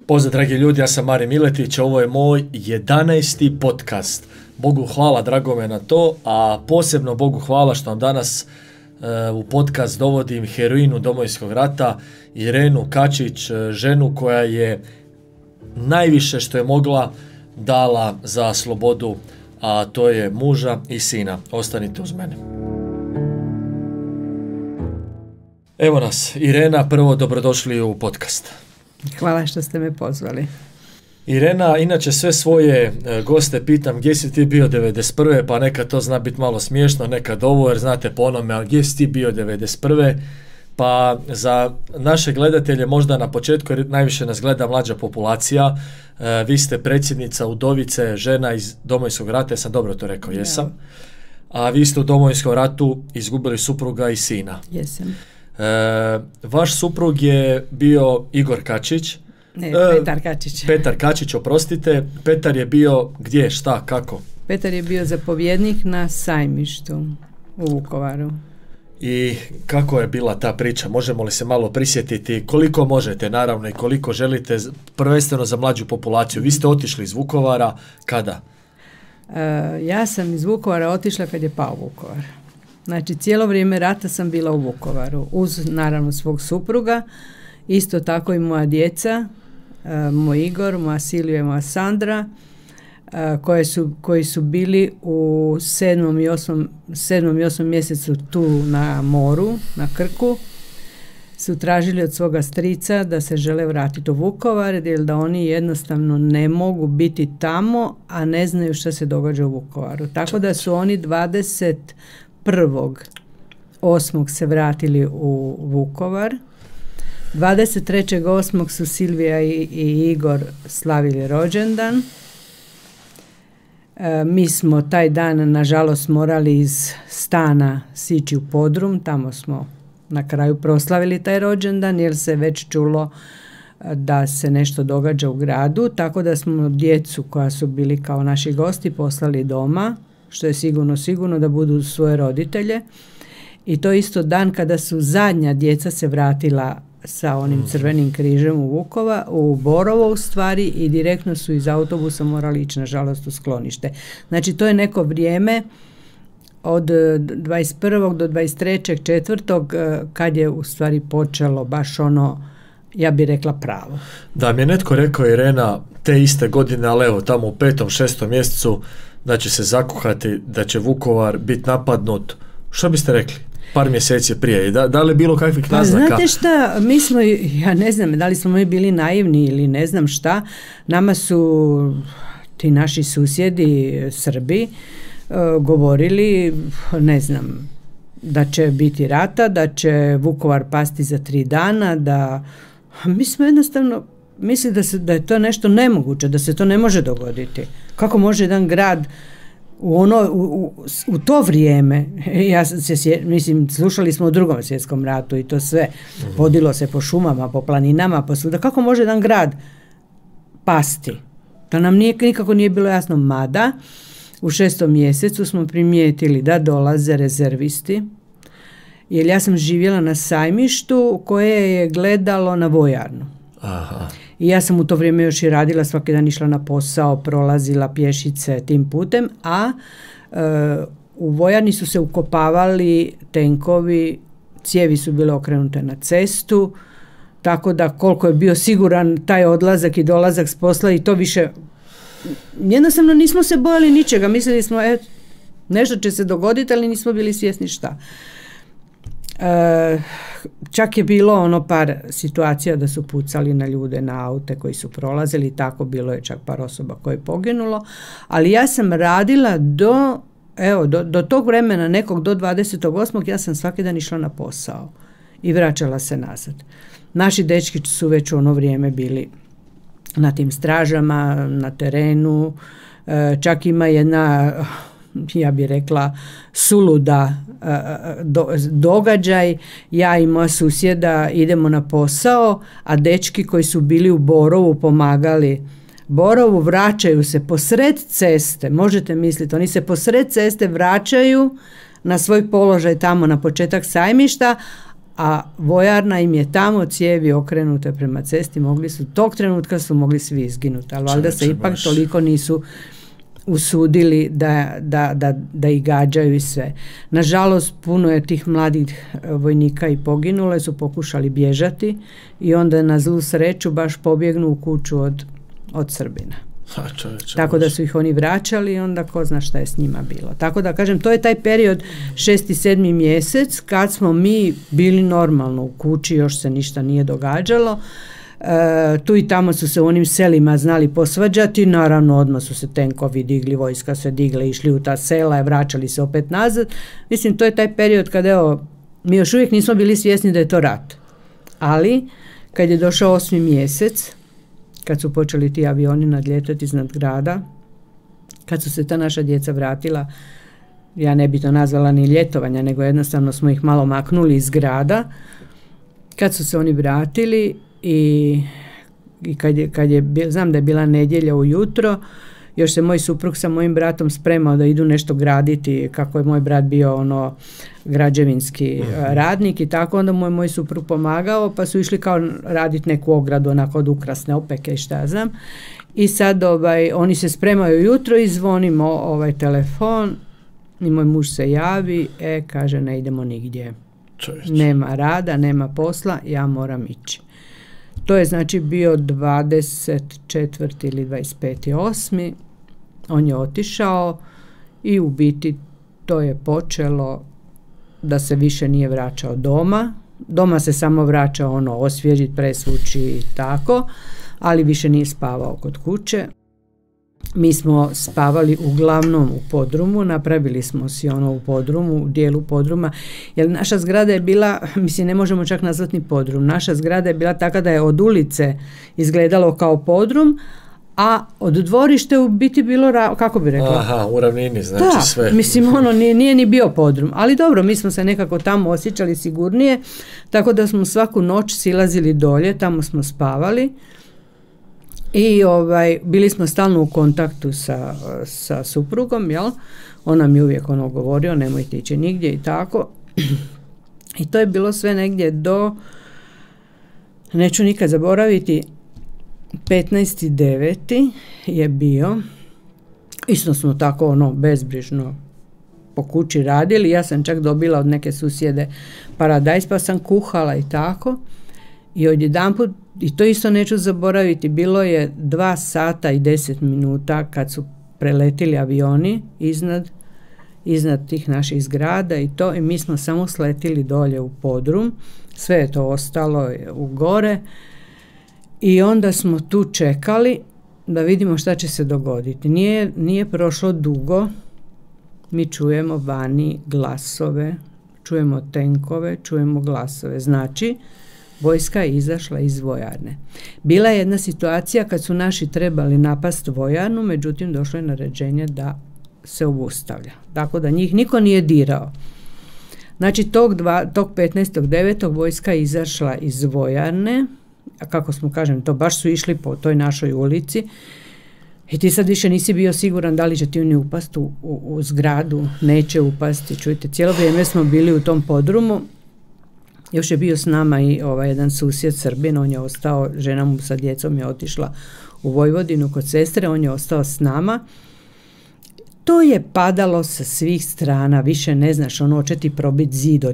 Pozdrav dragi ljudi, ja sam Marin Miletić, ovo je moj 11. podcast. Bogu hvala, drago me na to, a posebno Bogu hvala što vam danas u podcast dovodim heroinu Domovinskog rata, Irenu Kačić, ženu koja je najviše što je mogla dala za slobodu, a to je muža i sina. Ostanite uz mene. Evo nas, Irena, prvo dobrodošli u podcast. Hvala što ste me pozvali. Irena, inače sve svoje goste pitam gdje si ti bio 91. pa nekad to zna biti malo smiješno, nekad ovo, jer znate po onome, ali gdje si ti bio 91. Pa za naše gledatelje možda na početku, jer najviše nas gleda mlađa populacija, vi ste predsjednica Udovice, žena iz Domovinskog rata, ja sam dobro to rekao, jesam? A vi ste u Domovinskom ratu izgubili supruga i sina. Jesam. Vaš suprug je bio Igor Kačić. Ne, Petar Kačić. Petar Kačić, oprostite. Petar je bio gdje, šta, kako? Petar je bio zapovjednik na Sajmištu u Vukovaru. I kako je bila ta priča? Možemo li se malo prisjetiti? Koliko možete, naravno, i koliko želite, prvenstveno za mlađu populaciju. Vi ste otišli iz Vukovara, kada? Ja sam iz Vukovara otišla kad je pao Vukovar. Znači, cijelo vrijeme rata sam bila u Vukovaru, uz naravno svog supruga, isto tako i moja djeca, moj Igor, moja Silvija i moja Sandra, koji su bili u 7. i 8. mjesecu tu na moru, na Krku, su tražili od svoga strica da se žele vratiti u Vukovar, jer da oni jednostavno ne mogu biti tamo, a ne znaju što se događa u Vukovaru. Tako da su oni 21.8. se vratili u Vukovar. 23.8. su Silvija i Igor slavili rođendan. Mi smo taj dan, nažalost, morali iz stana sići u podrum. Tamo smo na kraju proslavili taj rođendan, jer se već čulo da se nešto događa u gradu. Tako da smo djecu koja su bili kao naši gosti poslali doma, što je sigurno da budu svoje roditelje. I to isto dan kada su zadnja djeca se vratila sa onim Crvenim križem u Borovo u stvari, i direktno su iz autobusa morali ići nažalost u sklonište. Znači to je neko vrijeme od 21. do 23.4. kad je u stvari počelo baš ono, ja bih rekla, pravo. Da, mi je netko rekao, Irena, te iste godine, ali evo tamo u 5. 6. mjesecu da će se zakuhati, da će Vukovar biti napadnut. Što biste rekli? Par mjeseci prije. Da li je bilo kakvih naznaka? Znate šta, mi smo, ja ne znam, da li smo mi bili naivni ili ne znam šta, nama su ti naši susjedi Srbi govorili, ne znam, da će biti rata, da će Vukovar pasti za 3 dana, da mi smo jednostavno mislili da je to nešto nemoguće, da se to ne može dogoditi. Kako može jedan grad u to vrijeme, mislim, slušali smo o Drugom svjetskom ratu i to sve, vodilo se po šumama, po planinama, po svuda. Kako može jedan grad pasti? To nam nikako nije bilo jasno, mada u 6. mjesecu smo primijetili da dolaze rezervisti, jer ja sam živjela na Sajmištu koje je gledalo na vojarnu. Aha. I ja sam u to vrijeme još i radila, svaki dan išla na posao, prolazila pješice tim putem, a u vojarni su se ukopavali tenkovi, cijevi su bile okrenute na cestu, tako da koliko je bio siguran taj odlazak i dolazak s posla, i to više, jednostavno nismo se bojali ničega, mislili smo nešto će se dogoditi, ali nismo bili svjesni šta. Čak je bilo par situacija da su pucali na ljude, na aute koji su prolazili, tako bilo je čak par osoba koje je poginulo, ali ja sam radila do tog vremena, nekog do 28. ja sam svaki dan išla na posao i vraćala se nazad. Naši dečki su već u ono vrijeme bili na tim stražama, na terenu, čak ima jedna, ja bih rekla, suluda događaj. Ja i moja susjeda idemo na posao, a dečki koji su bili u Borovu pomagali Borovu, vraćaju se posred ceste, možete misliti, oni se posred ceste vraćaju na svoj položaj tamo na početak Sajmišta, a vojarna im je tamo, cijevi okrenute prema cesti, tog trenutka su mogli svi izginuti, ali valjda se ipak toliko nisu usudili da ih gađaju i sve. Nažalost, puno je tih mladih vojnika i poginule, su pokušali bježati i onda na zlu sreću baš pobjegnu u kuću od Srbina. Tako da su ih oni vraćali i onda ko zna šta je s njima bilo. Tako da kažem, to je taj period 6. i 7. mjesec kad smo mi bili normalno u kući, još se ništa nije događalo. Tu i tamo su se u onim selima znali posvađati, naravno odmah su se tenkovi digli, vojska se digle, išli u ta sela i vraćali se opet nazad. Mislim, to je taj period kad mi još uvijek nismo bili svjesni da je to rat. Ali kad je došao 8. mjesec, kad su počeli ti avioni nadljetati iznad grada, kad su se ta naša djeca vratila, ja ne bi to nazvala ni ljetovanja, nego jednostavno smo ih malo maknuli iz grada, kad su se oni vratili i znam da je bila nedjelja ujutro, još se moj suprug sa mojim bratom spremao da idu nešto graditi, kako je moj brat bio građevinski radnik i tako, onda moj suprug pomagao, pa su išli kao raditi neku ogradu, onako od ukrasne opeke i šta znam. I sad oni se spremaju jutro i zvonimo telefon i moj muž se javi, kaže ne idemo nigdje. Nema rada, nema posla, ja moram ići. To je znači bio 24. ili 25.8. On je otišao i u biti to je počelo da se više nije vraćao doma. Doma se samo vraćao osvježiti, presvući i tako, ali više nije spavao kod kuće. Mi smo spavali uglavnom u podrumu, napravili smo si u podrumu, u dijelu podruma, jer naša zgrada je bila, mislim ne možemo čak nazvati ni podrum, naša zgrada je bila taka da je od ulice izgledalo kao podrum, a od dvorište u biti bilo, kako bi rekla? Aha, u ravnini, znači sve. Mislim, nije ni bio podrum, ali dobro, mi smo se nekako tamo osjećali sigurnije, tako da smo svaku noć silazili dolje, tamo smo spavali. I bili smo stalno u kontaktu sa suprugom, jel? On nam je uvijek govorio, nemojte ići nigdje i tako. I to je bilo sve negdje neću nikad zaboraviti, 15.9. je bio. Isto smo tako bezbrižno po kući radili. Ja sam čak dobila od neke susjede paradajz, pa sam kuhala i tako. I odjedanput, i to isto neću zaboraviti, bilo je 2 sata i 10 minuta kad su preletili avioni iznad tih naših zgrada i mi smo samo sletili dolje u podrum, sve je to ostalo u gore i onda smo tu čekali da vidimo šta će se dogoditi. Nije prošlo dugo, mi čujemo vani glasove, čujemo tenkove, čujemo glasove, znači vojska je izašla iz vojarne. Bila je jedna situacija kad su naši trebali napast vojarnu, međutim došlo je naređenje da se obustavlja. Tako da njih niko nije dirao. Znači tog 15.9. vojska je izašla iz vojarne, a kako smo kažem, to baš su išli po toj našoj ulici i ti sad više nisi bio siguran da li će ti oni upasti u zgradu, neće upasti. Čujte, cijelo vrijeme smo bili u tom podrumu. Još je bio s nama i jedan susjed Srbin, on je ostao, žena mu sa djecom je otišla u Vojvodinu kod sestre, on je ostao s nama. To je padalo sa svih strana, više ne znaš, hoće ti probiti zid,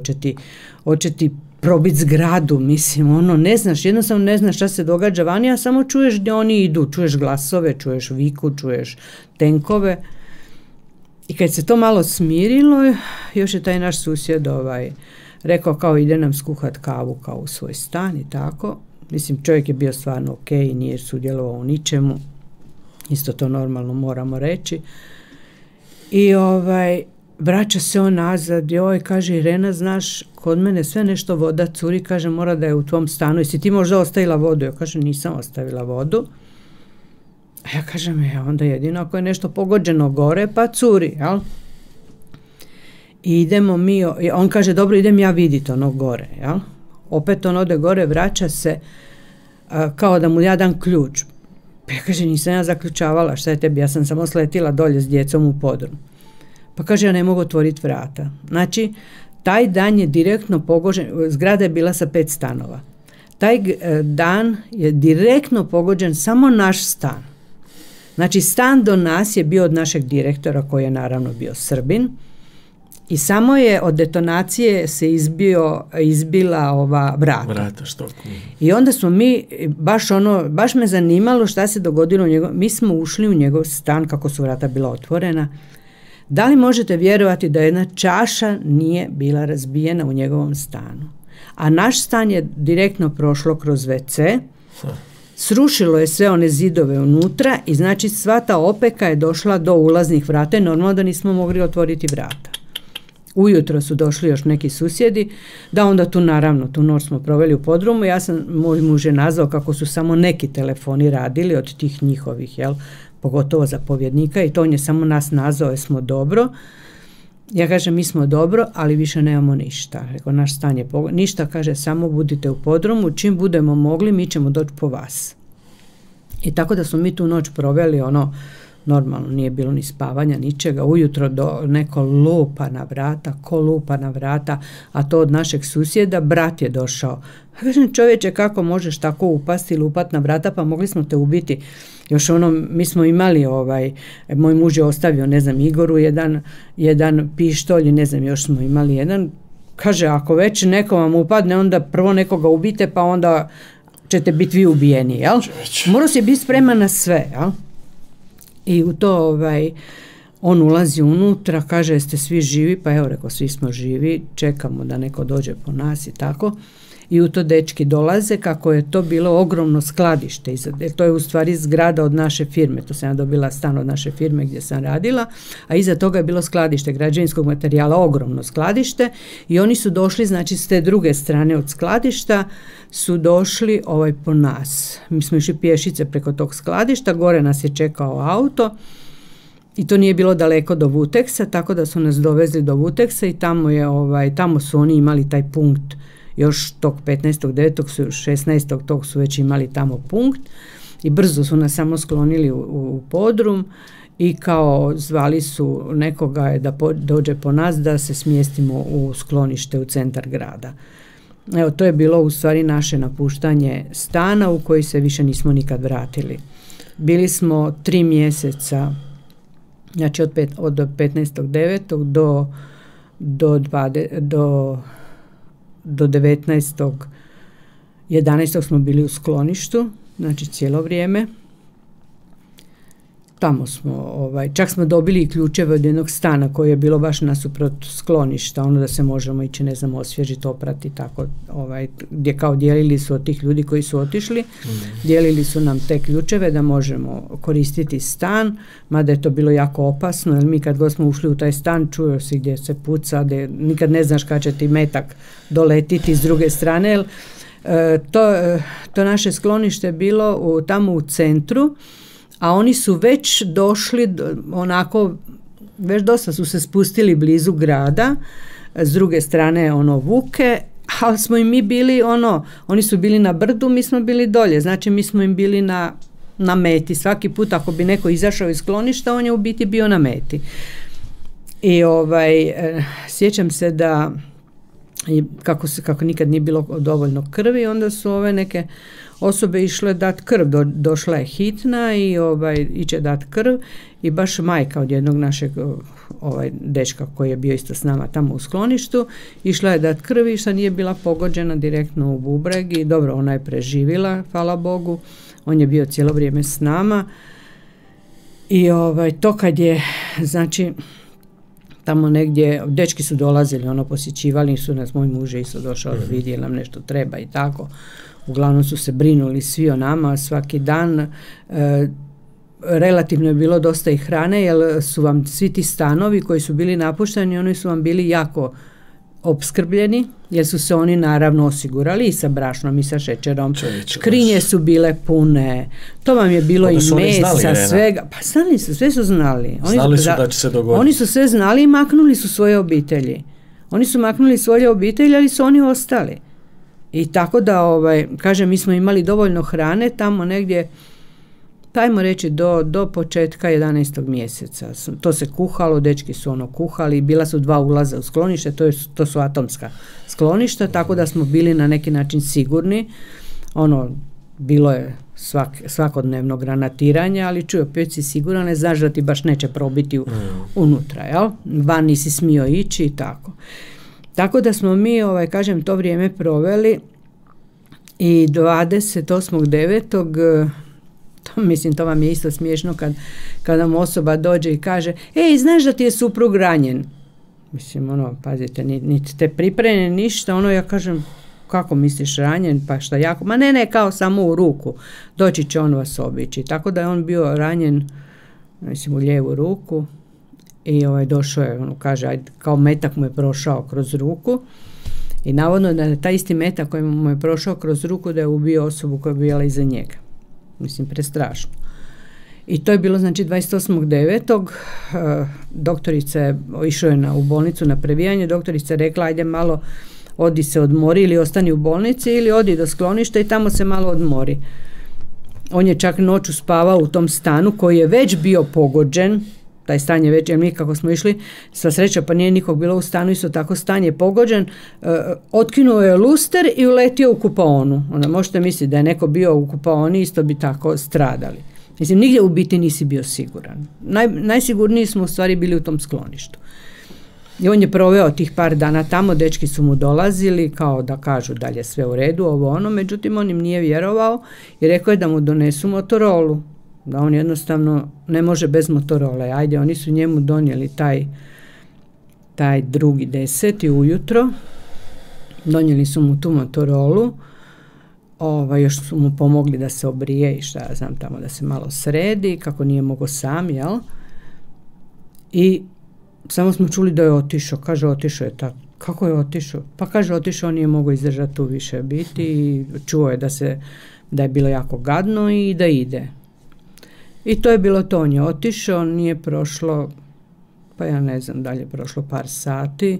hoće ti probiti zgradu, mislim, ne znaš, jednostavno ne znaš šta se događa vani, a samo čuješ gdje oni idu, čuješ glasove, čuješ viku, čuješ tenkove. I kad se to malo smirilo, još je taj naš susjed rekao kao ide nam skuhat kavu kao u svoj stan i tako. Mislim, čovjek je bio stvarno ok, nije sudjelovao u ničemu. Isto to normalno moramo reći. I vraća se on nazad, kaže Irena, znaš, kod mene sve nešto voda curi, kaže mora da je u tvom stanu. Jesi ti možda ostavila vodu? Ja kažem nisam ostavila vodu. A ja kažem, onda jedino ako je nešto pogođeno gore, pa curi, jel? I idemo mi, on kaže dobro idem ja vidjeti gore, jel? Opet on ode gore, vraća se kao da mu ja dam ključ. Pa ja kaže nisam ja zaključavala, šta je tebi, ja sam samo sletila dolje s djecom u podrum. Pa kaže ja ne mogu otvoriti vrata. Znači taj dan je direktno pogođen, zgrada je bila sa 5 stanova. Taj dan je direktno pogođen samo naš stan. Znači, stan do nas je bio od našeg direktora, koji je naravno bio Srbin, i samo je od detonacije se izbila ova vrata. I onda smo mi, baš me zanimalo šta se dogodilo u njegov, mi smo ušli u njegov stan kako su vrata bila otvorena. Da li možete vjerovati da jedna čaša nije bila razbijena u njegovom stanu? A naš stan je direktno prošlo kroz WC, srušilo je sve one zidove unutra i znači sva ta opeka je došla do ulaznih vrata i normalno da nismo mogli otvoriti vrata. Ujutro su došli još neki susjedi, da onda tu naravno, tu noć smo proveli u podrumu, moj muž je nazvao kako su samo neki telefoni radili od tih njihovih, pogotovo zapovjednika, i to on je samo nas nazvao, jer smo dobro. Ja kažem, mi smo dobro, ali više nemamo ništa. Rekao, naš stan je ništa, kaže, samo budite u podrumu, čim budemo mogli, mi ćemo doći po vas. I tako da smo mi tu noć proveli, normalno, nije bilo ni spavanja, ničega. Ujutro neko lupa na vrata, a to od našeg susjeda, brat je došao. Kažem, čovječe, kako možeš tako upasti, lupat na vrata, pa mogli smo te ubiti. Još mi smo imali, moj muž je ostavio, Igoru jedan pištolj, još smo imali jedan. Kaže, ako već neko vam upadne, onda prvo nekoga ubite, pa onda ćete biti vi ubijeni, jel? Morao si biti spreman na sve, jel? I u to on ulazi unutra, kaže, jeste svi živi? Pa evo, rekao, svi smo živi, čekamo da neko dođe po nas i tako. I u to dečki dolaze, kako je to bilo ogromno skladište. To je u stvari zgrada od naše firme, to sam ja dobila stan od naše firme gdje sam radila, a iza toga je bilo skladište građevinskog materijala, ogromno skladište, i oni su došli, znači s te druge strane od skladišta su došli po nas. Mi smo išli pješice preko tog skladišta, gore nas je čekao auto i to nije bilo daleko do Vuteksa, tako da su nas dovezli do Vuteksa i tamo su oni imali taj punkt. Još tog 15.9. 16. tog su već imali tamo punkt i brzo su nas samo sklonili u podrum i kao zvali su nekoga da dođe po nas da se smjestimo u sklonište u centar grada. Evo, to je bilo u stvari naše napuštanje stana u koji se više nismo nikad vratili. Bili smo 3 mjeseca, znači od 15.9. do 19.11. smo bili u skloništu, znači cijelo vrijeme. Tamo smo, čak smo dobili i ključeve od jednog stana koji je bilo baš nasuprot skloništa, da se možemo ići, osvježiti, oprati, tako, gdje kao dijelili su od tih ljudi koji su otišli, dijelili su nam te ključeve da možemo koristiti stan, mada je to bilo jako opasno, jer mi kad god smo ušli u taj stan, čuo si gdje se puca, nikad ne znaš kad će ti metak doletiti s druge strane, jer to naše sklonište je bilo tamo u centru, a oni su već došli, već dosta su se spustili blizu grada, s druge strane Vuke, ali smo i mi bili oni su bili na brdu, mi smo bili dolje, znači mi smo im bili na meti. Svaki put ako bi neko izašao iz skloništa, on je u biti bio na meti. I sjećam se da kako nikad nije bilo dovoljno krvi, onda su neke osobe išle dati krv, došla je hitna i iće dati krv i baš majka od jednog našeg dečka koji je bio isto s nama tamo u skloništu, išla je dati krv i što nije bila pogođena direktno u bubreg i dobro, ona je preživjela, hvala Bogu, on je bio cijelo vrijeme s nama i to kad je, znači, tamo negdje, dečki su dolazili, posjećivali su nas, moj muž je isto došao da vidi jel nam nešto treba i tako. Uglavnom su se brinuli svi o nama svaki dan. Relativno je bilo dosta i hrane, jer su vam svi ti stanovi koji su bili napušteni, oni su vam bili jako opskrbljeni, jer su se oni naravno osigurali i sa brašnom i sa šećerom. Škrinje su bile pune, to vam je bilo i mesa, svega. Pa znali su, sve su znali. Znali su da će se dogoditi. Oni su sve znali i maknuli su svoje obitelji. Oni su maknuli svoje obitelji, ali su oni ostali. I tako da, kažem, mi smo imali dovoljno hrane tamo negdje Pa ajmo reći do početka 11. mjeseca. To se kuhalo, dečki su ono kuhali, bila su 2 ulaza u sklonište, to su atomska skloništa, tako da smo bili na neki način sigurni. Ono, bilo je svakodnevno granatiranje, ali čuj, opet si siguran, ne znaš da ti baš neće probiti unutra, jel? Van nisi smio ići i tako. Tako da smo mi, kažem, to vrijeme proveli i 28.9. Mislim, to vam je isto smiješno kad nam osoba dođe i kaže, ej, znaš da ti je suprug ranjen? Mislim, ono, pazite, niti te pripremljene ništa, ono, ja kažem, kako misliš ranjen, pa šta jako, ma ne, kao samo u ruku, doći će on vas obići. Tako da je on bio ranjen, mislim, u lijevu ruku i došao je, ono, kaže, ajde, kao metak mu je prošao kroz ruku i navodno da je taj isti metak koji mu je prošao kroz ruku da je ubio osobu koja je bila iza njega. Mislim, prestrašno. I to je bilo, znači, 28.9. Doktorica je išao u bolnicu na previjanje, doktorica je rekla, ajde malo odi se odmori ili ostani u bolnici ili odi do skloništa i tamo se malo odmori. On je čak noću spavao u tom stanu koji je već bio pogođen, taj stan je već, jer mi kako smo išli, sva sreća pa nije nikog bilo u stanu, isto tako stan je pogođen, otkinuo je luster i uletio u kupaonu. Onda možete misliti da je neko bio u kupaoni, isto bi tako stradali. Mislim, nigdje u biti nisi bio siguran. Najsigurniji smo u stvari bili u tom skloništu. I on je proveo tih par dana tamo, dečki su mu dolazili kao da kažu da je sve u redu, ovo ono, međutim on im nije vjerovao i rekao je da mu donesu Motorolu, da on jednostavno ne može bez Motorole. Ajde, oni su njemu donijeli taj 2.10. ujutro, donijeli su mu tu Motorolu, još su mu pomogli da se obrije i šta ja znam tamo, da se malo sredi, kako nije mogao sam, jel? I samo smo čuli da je otišao. Kaže, otišao je tako. Kako je otišao? Pa kaže, otišao, on nije mogao izdržati tu više biti i čuo je da je bilo jako gadno i da ide. I to je bilo to. On je otišao, nije prošlo, pa ja ne znam, dalje prošlo par sati,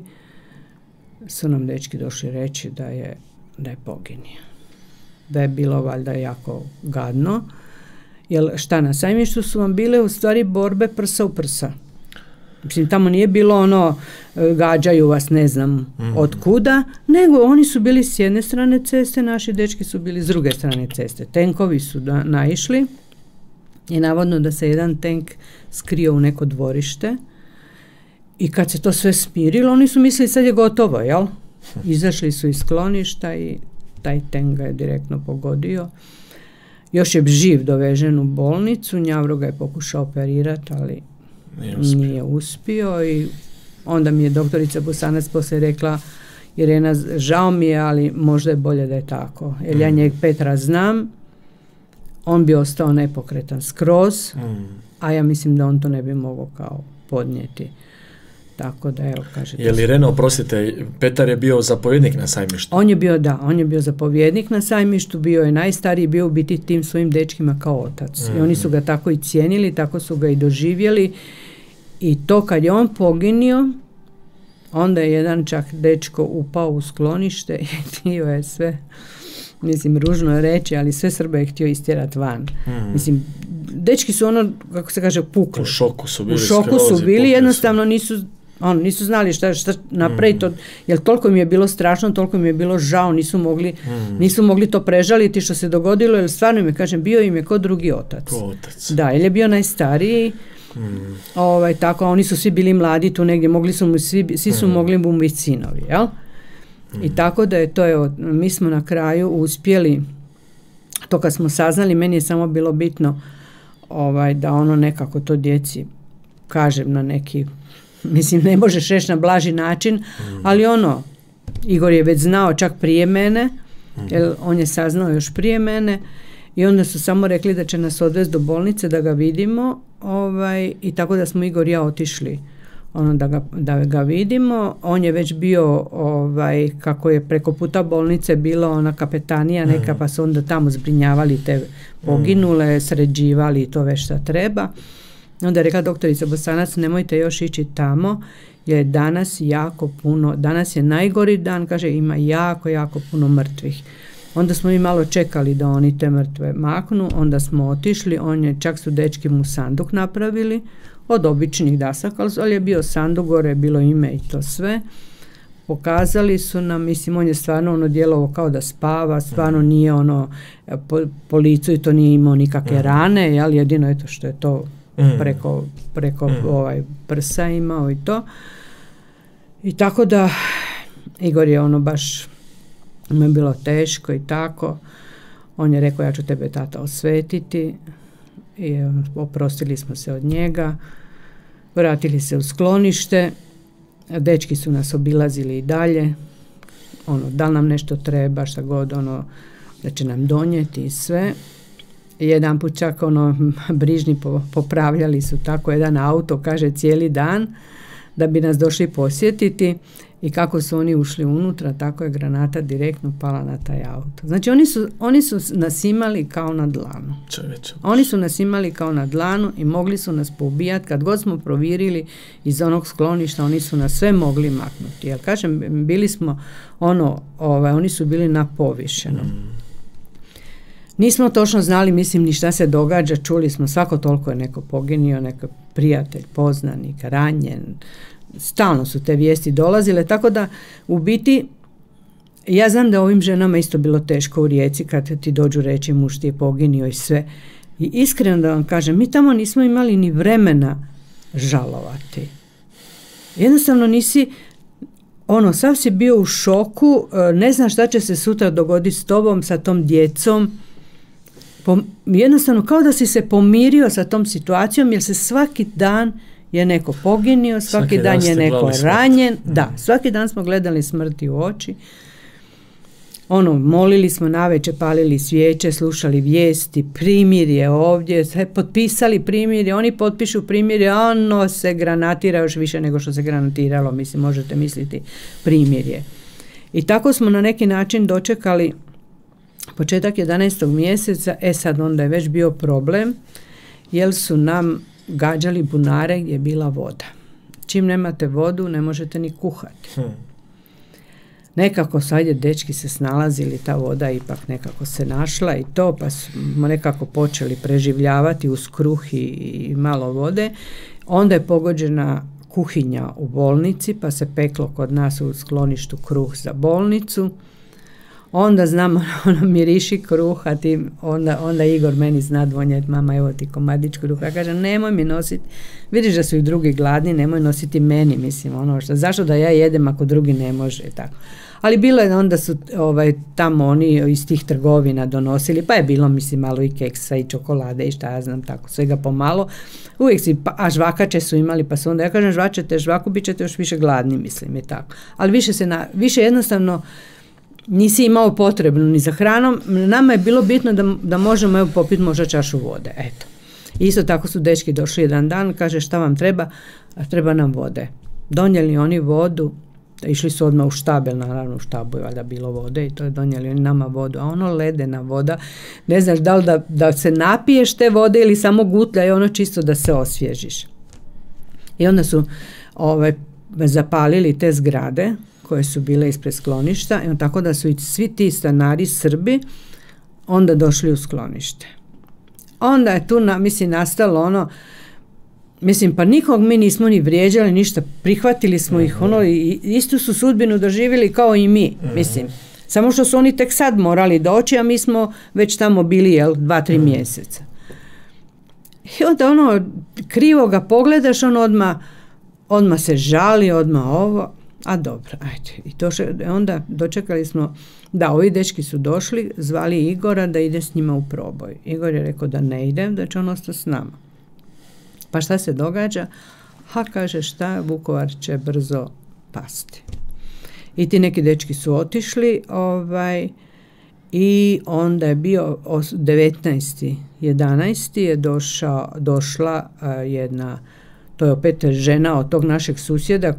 su nam dečki došli reći da je poginio. Da je bilo valjda jako gadno. Jer šta, na Sajmištu su vam bile u stvari borbe prsa u prsa. Mislim, tamo nije bilo ono, gađaju vas ne znam od kuda, nego oni su bili s jedne strane ceste, naši dečki su bili s druge strane ceste. Tenkovi su naišli i navodno da se jedan tenk skrio u neko dvorište i kad se to sve smirilo, oni su mislili sad je gotovo, jel? Izašli su iz skloništa i taj tenk ga je direktno pogodio. Još je živ dovežen u bolnicu, Njavro ga je pokušao operirati, ali nije uspio i onda mi je doktorica Bosanac poslije rekla, Irena, žao mi je, ali možda je bolje da je tako. Jer ja njeg Petra znam, on bi ostao nepokretan skroz, a ja mislim da on to ne bi mogao kao podnijeti. Tako da, evo, kažete. Je li Irena, oprostite, Petar je bio zapovjednik na Sajmištu? On je bio zapovjednik na Sajmištu, bio je najstariji, bio u biti tim svojim dečkima kao otac. I oni su ga tako i cijenili, tako su ga i doživjeli. I to kad je on poginio, onda je jedan čak dečko upao u sklonište i htio je sve, mislim, ružno reći, ali sve Srbe je htio istjerati van. Mislim, dečki su ono, kako se kaže, pukli. U šoku su bili. U šoku su bili, jednostavno nisu znali šta napraviti, jer toliko im je bilo strašno, toliko im je bilo žao, nisu mogli to prežaliti što se dogodilo, jer stvarno im je, kažem, bio im je ko drugi otac. Da, jer je bio najstariji, tako, oni su svi bili mladi tu negdje, svi su mogli mu biti sinovi, jel? I tako da je to, evo, mi smo na kraju uspjeli, to kad smo saznali, meni je samo bilo bitno da ono nekako to djeci kažem na neki, mislim, ne možeš reći na blaži način, ali Igor je već znao čak prije mene, jer on je saznao još prije mene i onda su samo rekli da će nas odvesti do bolnice da ga vidimo, i tako da smo Igor i ja otišli da ga vidimo. On je već bio, kako je preko puta bolnice bila ona kapetanija neka, pa su onda tamo zbrinjavali te poginule, sređivali i to već šta treba. Onda je rekla doktorica Bosanac, nemojte još ići tamo, jer je danas jako puno, danas je najgori dan, kaže, ima jako, jako puno mrtvih. Onda smo mi malo čekali da oni te mrtve maknu, onda smo otišli, čak su dečki mu sanduk napravili, od običnih dasaka, ali je bio sanduk, gore je bilo ime i to sve. Pokazali su nam, mislim, on je stvarno djelovao kao da spava, stvarno nije po licu i to nije imao nikakve rane, jel, jedino je to što je to preko prsa imao i to. I tako da Igor je baš mu je bilo teško i tako. On je rekao, ja ću tebe, tata, osvetiti. I oprostili smo se od njega. Vratili se u sklonište. Dečki su nas obilazili i dalje. Da li nam nešto treba, šta god, da će nam donijeti i sve. Jedan put čak brižni popravljali su tako jedan auto, kaže, cijeli dan, da bi nas došli posjetiti, i kako su oni ušli unutra, tako je granata direktno pala na taj auto. Znači oni su nas imali kao na dlanu. Oni su nas imali kao na dlanu i mogli su nas poubijati. Kad god smo provjerili iz onog skloništa, oni su nas sve mogli maknuti. Jer kažem, bili smo oni su bili na povišenom. Nismo točno znali, mislim, ni šta se događa, čuli smo svako toliko je neko poginio, neko prijatelj, poznanik, ranjen, stalno su te vijesti dolazile, tako da u biti ja znam da ovim ženama isto bilo teško u Rijeci kad ti dođu reći muž ti je poginio i sve. I iskreno da vam kažem, mi tamo nismo imali ni vremena žalovati. Jednostavno nisi, sav si bio u šoku, ne znaš šta će se sutra dogoditi s tobom, sa tom djecom. Jednostavno kao da si se pomirio sa tom situacijom, jer se svaki dan je neko poginio, svaki dan je neko ranjen. Da, svaki dan smo gledali smrti u oči. Molili smo navečer, palili svijeće, slušali vijesti, primirje ovdje, potpisali primirje, oni potpišu primirje, se granatira još više nego što se granatiralo, mislim, možete misliti, primirje. I tako smo na neki način dočekali početak 11. mjeseca, sad onda je već bio problem, jer su nam gađali bunare gdje je bila voda. Čim nemate vodu, ne možete ni kuhati. Nekako sad dečki se snalazili, ta voda ipak nekako se našla i to, pa smo nekako počeli preživljavati uz kruh i malo vode. Onda je pogođena kuhinja u bolnici, pa se peklo kod nas u skloništu kruh za bolnicu. Onda znamo, miriši kruh, a onda Igor meni zna donijeti, mama, evo ti komadić kruha. Ja kažem, nemoj mi nositi, vidiš da su i drugi gladni, nemoj nositi meni, mislim, zašto da ja jedem ako drugi ne može, tako. Ali bilo je, onda su tamo oni iz tih trgovina donosili, pa je bilo, mislim, malo i keksa i čokolade i šta ja znam, tako, svega pomalo. Uvijek a žvakače su imali, pa su onda, ja kažem, žvačete žvaku, bit ćete još više gladni, mislim, i tako. Ali više jednostavno nisi imao potrebno ni za hranom. Nama je bilo bitno da možemo popiti možda čašu vode, eto. Isto tako su dečki došli jedan dan, kaže, šta vam treba? Treba nam vode. Donijeli oni vodu, išli su odmah u štabel, naravno u štabu je valjda bilo vode i to je donijeli oni nama vodu, a ledena voda, ne znaš da li da se napiješ te vode ili samo gutlja i čisto da se osvježiš. I onda su zapalili te zgrade koje su bile ispred skloništa, i tako da su i svi ti stanari Srbi onda došli u sklonište. Onda je tu nastalo pa nikog mi nismo ni vrijeđali, ništa, prihvatili smo ih, i istu su sudbinu doživjeli kao i mi, mislim. Samo što su oni tek sad morali doći, a mi smo već tamo bili, 2-3 mjeseca. I onda krivo ga pogledaš, odmah se žali, odmah ovo, a dobro, ajde. I onda dočekali smo, da, ovi dečki su došli, zvali Igora da ide s njima u proboj. Igor je rekao da ne ide, da će on ostati s nama. Pa šta se događa? Kaže, šta, Vukovar će brzo pasti. I ti neki dečki su otišli, i onda je bio 19.11. je došla jedna, to je opet žena od tog našeg susjeda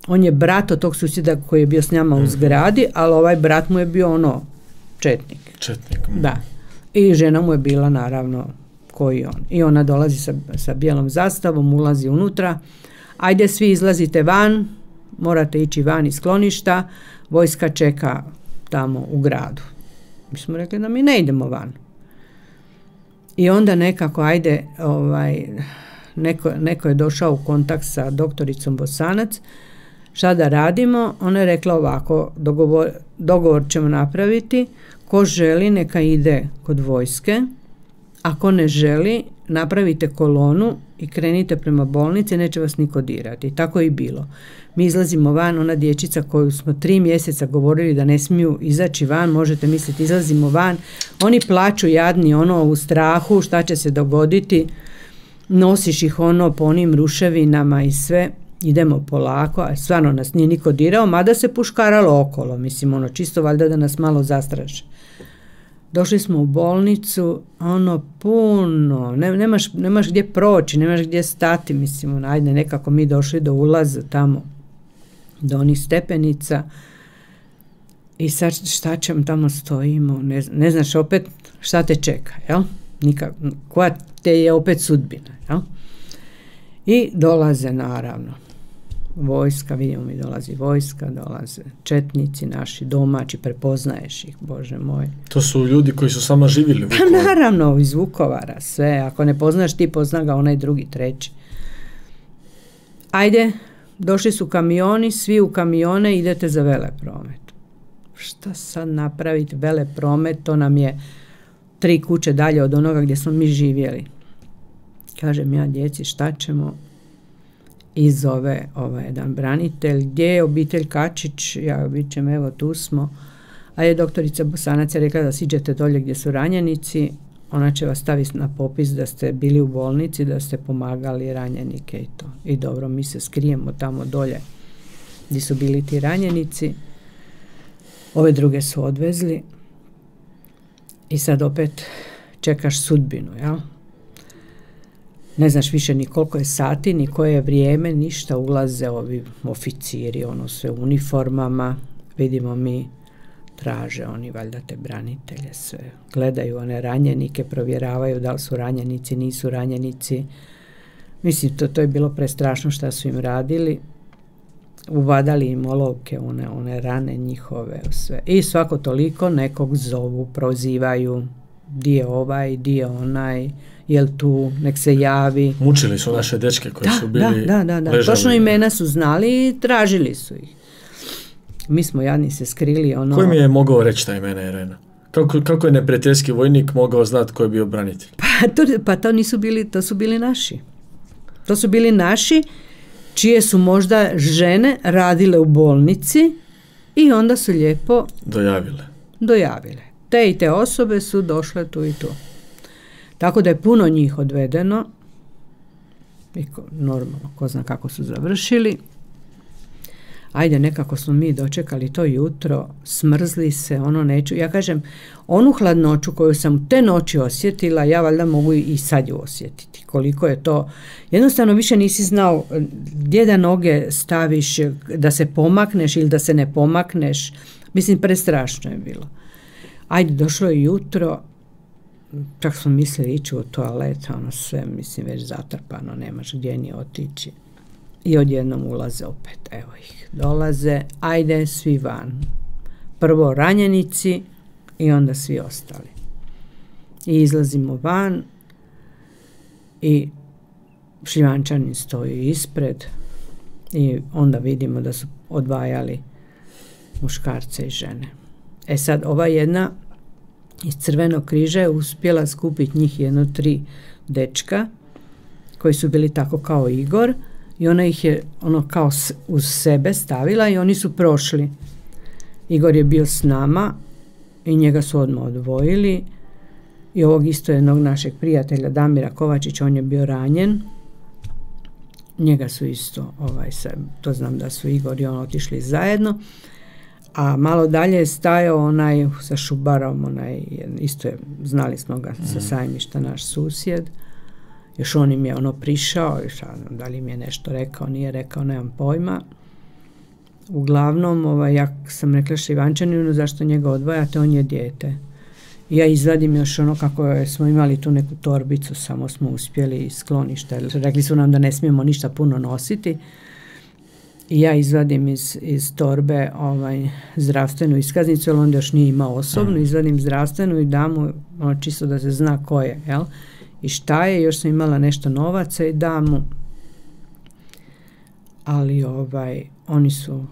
on je brat od tog susjeda koji je bio s njama u zgradi, ali brat mu je bio četnik. Da. I žena mu je bila naravno koji on. I ona dolazi sa bijelom zastavom, ulazi unutra. Ajde, svi izlazite van, morate ići van iz skloništa, vojska čeka tamo u gradu. Mi smo rekli da mi ne idemo van. I onda nekako, neko je došao u kontakt sa doktoricom Bosanac, šta da radimo? Ona je rekla ovako, dogovor ćemo napraviti, ko želi neka ide kod vojske, ako ne želi, napravite kolonu i krenite prema bolnici, neće vas niko dirati. Tako je i bilo. Mi izlazimo van, ona dječica koju smo 3 mjeseca govorili da ne smiju izaći van, možete misliti, izlazimo van, oni plaču jadni u strahu, šta će se dogoditi, nosiš ih po onim ruševinama i sve, idemo polako, a stvarno nas nije niko dirao, mada se puškaralo okolo, mislim, čisto valjda da nas malo zastraše. Došli smo u bolnicu, puno, nemaš gdje proći, nemaš gdje stati, mislim, ajde, nekako mi došli do ulaza tamo, do onih stepenica i sad šta ćemo, tamo stojimo, ne znaš opet šta te čeka, jel? Koja te je opet sudbina, jel? I dolaze naravno vojska, vidimo mi dolazi vojska, dolaze četnici naši, domaći, prepoznaješ ih, Bože moj. To su ljudi koji su samo živjeli u Vukovaru. Pa naravno, iz Vukovara, sve. Ako ne poznaš ti, pozna ga onaj drugi, treći. Ajde, došli su kamioni, svi u kamione, idete za Velepromet. Šta sad napraviti? Velepromet, to nam je 3 kuće dalje od onoga gdje smo mi živjeli. Kažem ja djeci, šta ćemo? I zove jedan branitelj, gdje je obitelj Kačić, ja vičem, evo tu smo, a je doktorica Bosanac je rekla da siđete dolje gdje su ranjenici, ona će vas staviti na popis da ste bili u bolnici, da ste pomagali ranjenike i to. I dobro, mi se skrijemo tamo dolje gdje su bili ti ranjenici, ove druge su odvezli i sad opet čekaš sudbinu, jel? Ne znaš više ni koliko je sati, ni koje je vrijeme, ništa, ulaze ovi oficiri, sve u uniformama, vidimo mi, traže oni valjda te branitelje, sve, gledaju one ranjenike, provjeravaju da li su ranjenici, nisu ranjenici. Mislim, to je bilo prestrašno šta su im radili, uvadali im olovke, one rane njihove, sve. I svako toliko nekog zovu, prozivaju, di je ovaj, di je onaj, jel tu, nek se javi. Mučili su naše dečke koji su bili ležali. Točno imena su znali i tražili su ih. Mi smo jadni se skrili. Koji mi je mogao reći ta imena, Irena? Kako je neprijateljski vojnik mogao znati ko je bio branitelj? Pa to nisu bili, to su bili naši. To su bili naši, čije su možda žene radile u bolnici i onda su lijepo dojavile. Te i te osobe su došle tu i tu. Tako da je puno njih odvedeno i normalno, ko zna kako su završili. Ajde, nekako smo mi dočekali to jutro, smrzli se, neću. Ja kažem, onu hladnoću koju sam te noći osjetila, ja valjda mogu i sad ju osjetiti. Koliko je to, jednostavno više nisi znao gdje da noge staviš, da se pomakneš ili da se ne pomakneš. Mislim, prestrašno je bilo. Ajde, došlo je jutro, čak smo mislili ići u toalet, sve, mislim, već zatrpano, nemaš gdje ni otići. I odjednom ulaze opet, evo ih, dolaze, ajde, svi van. Prvo ranjenici i onda svi ostali. I izlazimo van i Šljivančanin stoji ispred i onda vidimo da su odvajali muškarce i žene. E sad, ova jedna iz Crvenog križa je uspjela skupiti njih 3 dečka koji su bili tako kao Igor i ona ih je kao uz sebe stavila i oni su prošli. Igor je bio s nama i njega su odmah odvojili i ovog isto jednog našeg prijatelja Damira Kovačića, on je bio ranjen. Njega su isto, to znam da su Igor i on otišli zajedno. A malo dalje je stajao onaj sa šubarom, isto je, znali smo ga sa Sajmišta, naš susjed. Još on im je prišao, da li im je nešto rekao, nije rekao, nemam pojma. Uglavnom, ja sam rekla Šljivančaninu, zašto njega odvajate, on je dijete. I ja izvadim još kako smo imali tu neku torbicu, samo smo uspjeli iz skloništa. Rekli su nam da ne smijemo ništa puno nositi. i ja izvadim iz torbe zdravstvenu iskaznicu, jer onda još nije imao osobnu, izvadim zdravstvenu i dam mu čisto da se zna ko je, jel? I šta je, još sam imala nešto novaca i dam mu, ali oni su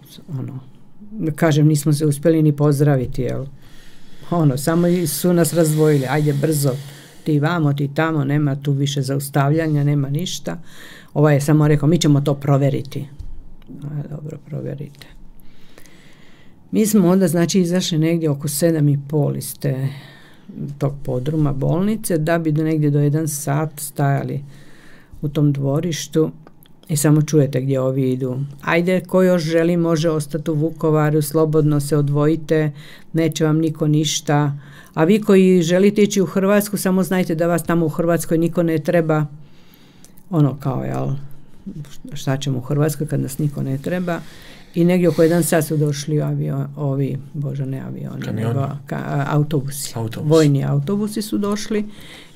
kažem, nismo se uspjeli ni pozdraviti, jel? Samo su nas razdvojili, ajde brzo, ti vamo, ti tamo, nema tu više zaustavljanja, nema ništa. Je samo rekao, mi ćemo to provjeriti. Dobro, provjerite. Mi smo onda, znači, izašli negdje oko 7:30 iz tog podruma bolnice, da bi negdje do 1 sat stajali u tom dvorištu i samo čujete gdje ovi idu. Ajde, ko još želi može ostati u Vukovaru, slobodno se odvojite, neće vam niko ništa. A vi koji želite ići u Hrvatsku, samo znajte da vas tamo u Hrvatskoj niko ne treba. Jel, šta ćemo u Hrvatskoj kad nas niko ne treba. I negdje oko 1 sat su došli autobusi. Vojni autobusi su došli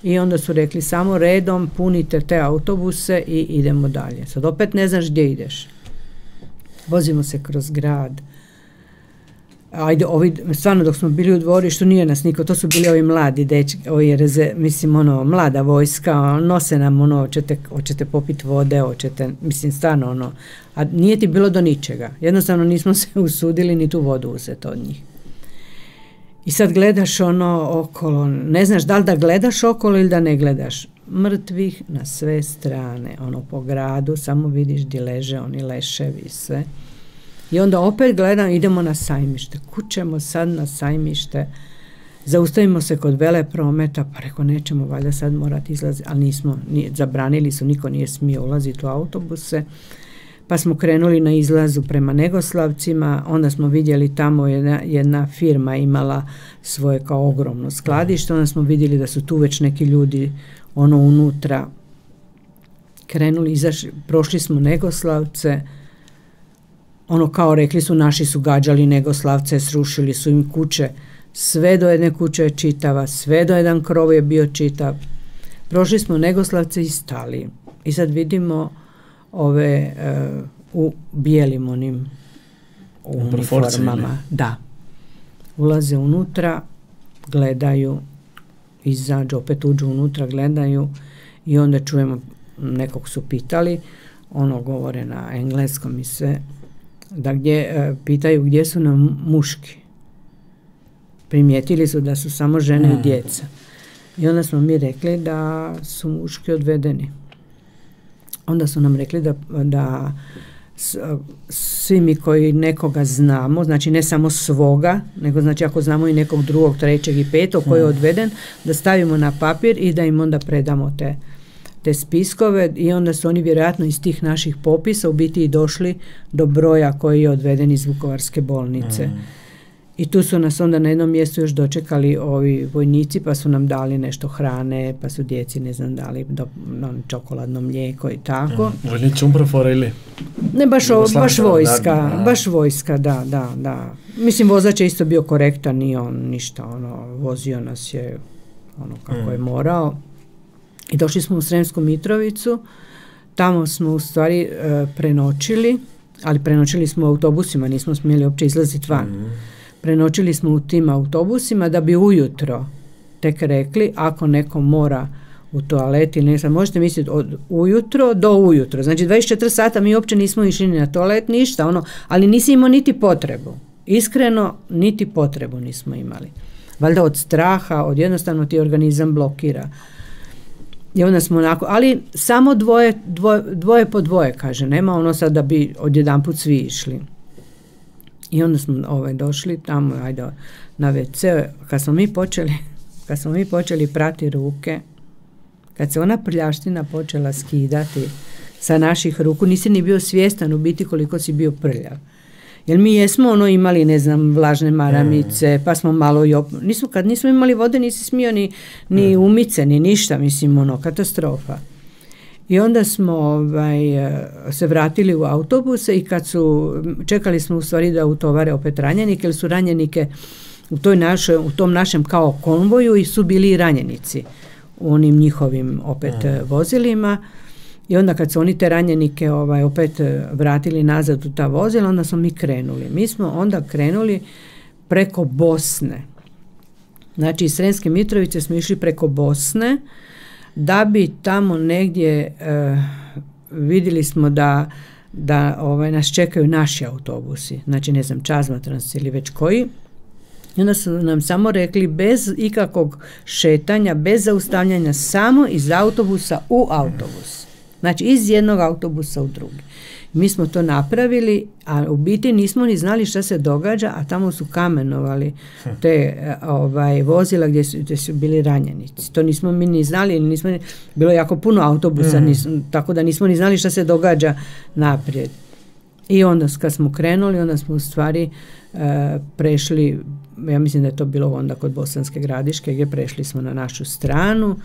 i onda su rekli samo redom punite te autobuse i idemo dalje. Sad opet ne znaš gdje ideš. Vozimo se kroz grad. Ajde, stvarno dok smo bili u dvorištu nije nas niko, to su bili ovi mladi dečki, mlada vojska, nose nam hoćete popiti vode, stvarno a nije ti bilo do ničega. Jednostavno nismo se usudili ni tu vodu uzeti od njih. I sad gledaš okolo, ne znaš da li da gledaš okolo ili da ne gledaš. Mrtvih na sve strane, po gradu, samo vidiš gdje leže oni leševi i sve. I onda opet gledam, idemo na Sajmište. Kućemo sad na Sajmište, zaustavimo se kod Veleprometa, pa reko nećemo valjda sad morati izlaziti, ali nismo, zabranili su, niko nije smio ulaziti u autobuse. Pa smo krenuli na izlazu prema Negoslavcima, onda smo vidjeli tamo jedna firma imala svoje kao ogromno skladište, onda smo vidjeli da su tu već neki ljudi unutra krenuli, prošli smo Negoslavce, kao rekli su, naši su gađali Negoslavce, srušili su im kuće, sve do jedne kuće je čitava, sve do jedan krov je bio čitav. Prošli smo Negoslavce i stali. I sad vidimo ove u bijelim onim uniformama. Da. Ulaze unutra, gledaju, izađu, opet uđu unutra, gledaju i onda čujemo, nekog su pitali, govore na engleskom i sve, da pitaju gdje su nam muški. Primijetili su da su samo žene i djeca. I onda smo mi rekli da su muški odvedeni. Onda su nam rekli da svi mi koji nekoga znamo, znači ne samo svoga, nego znači ako znamo i nekog drugog, trećeg i petog koji je odveden, da stavimo na papir i da im onda predamo te spiskove i onda su oni vjerojatno iz tih naših popisa u biti i došli do broja koji je odveden iz Vukovarske bolnice. I tu su nas onda na jednom mjestu još dočekali ovi vojnici, pa su nam dali nešto hrane, pa su djeci, ne znam, dali čokoladno mlijeko i tako. Vojnici umprofora ili? Ne, baš vojska, da. Mislim, vozač je isto bio korektan, nije on ništa, vozio nas je kako je morao. I došli smo u Sremsku Mitrovicu, tamo smo u stvari prenoćili, ali prenoćili smo u autobusima, nismo smjeli uopće izlaziti van. Prenoćili smo u tim autobusima da bi ujutro tek rekli, ako neko mora u toalet ili nešto, možete misliti od ujutro do ujutro. Znači 24 sata mi uopće nismo išli ni na toalet, ništa, ali nisi imao niti potrebu. Iskreno, niti potrebu nismo imali. Valjda od straha, od jednostavno ti organizam blokira. I onda smo ali samo dvoje po dvoje, kaže, nema sad da bi odjedanput svi išli. I onda smo došli tamo, na WC, kad smo mi počeli prati ruke, kad se ona prljaština počela skidati sa naših ruku, nisi ni bio svjestan u biti koliko si bio prljav. Jer mi jesmo imali, ne znam, vlažne maramice, pa smo malo kad nismo imali vode nisi smio ni umice, ni ništa, mislim, katastrofa. I onda smo se vratili u autobuse i čekali smo u stvari da utovare opet ranjenike, jer su ranjenike u tom našem kao konvoju i su bili i ranjenici u onim njihovim opet vozilima. I onda kad su oni te ranjenike opet vratili nazad u ta vozila, onda smo mi krenuli. Mi smo onda krenuli preko Bosne. Znači iz Sremske Mitrovice smo išli preko Bosne, da bi tamo negdje vidjeli smo da nas čekaju naši autobusi. Znači ne znam, Čazmatrans ili već koji. I onda su nam samo rekli bez ikakvog šetanja, bez zaustavljanja, samo iz autobusa u autobus. Znači iz jednog autobusa u drugi. Mi smo to napravili, a u biti nismo ni znali šta se događa, a tamo su kamenovali te vozila gdje su bili ranjenici. To nismo mi ni znali, bilo je jako puno autobusa, tako da nismo ni znali šta se događa naprijed. I onda kad smo krenuli, onda smo u stvari prešli, ja mislim da je to bilo onda kod Bosanske Gradiške, gdje prešli smo na našu stranu.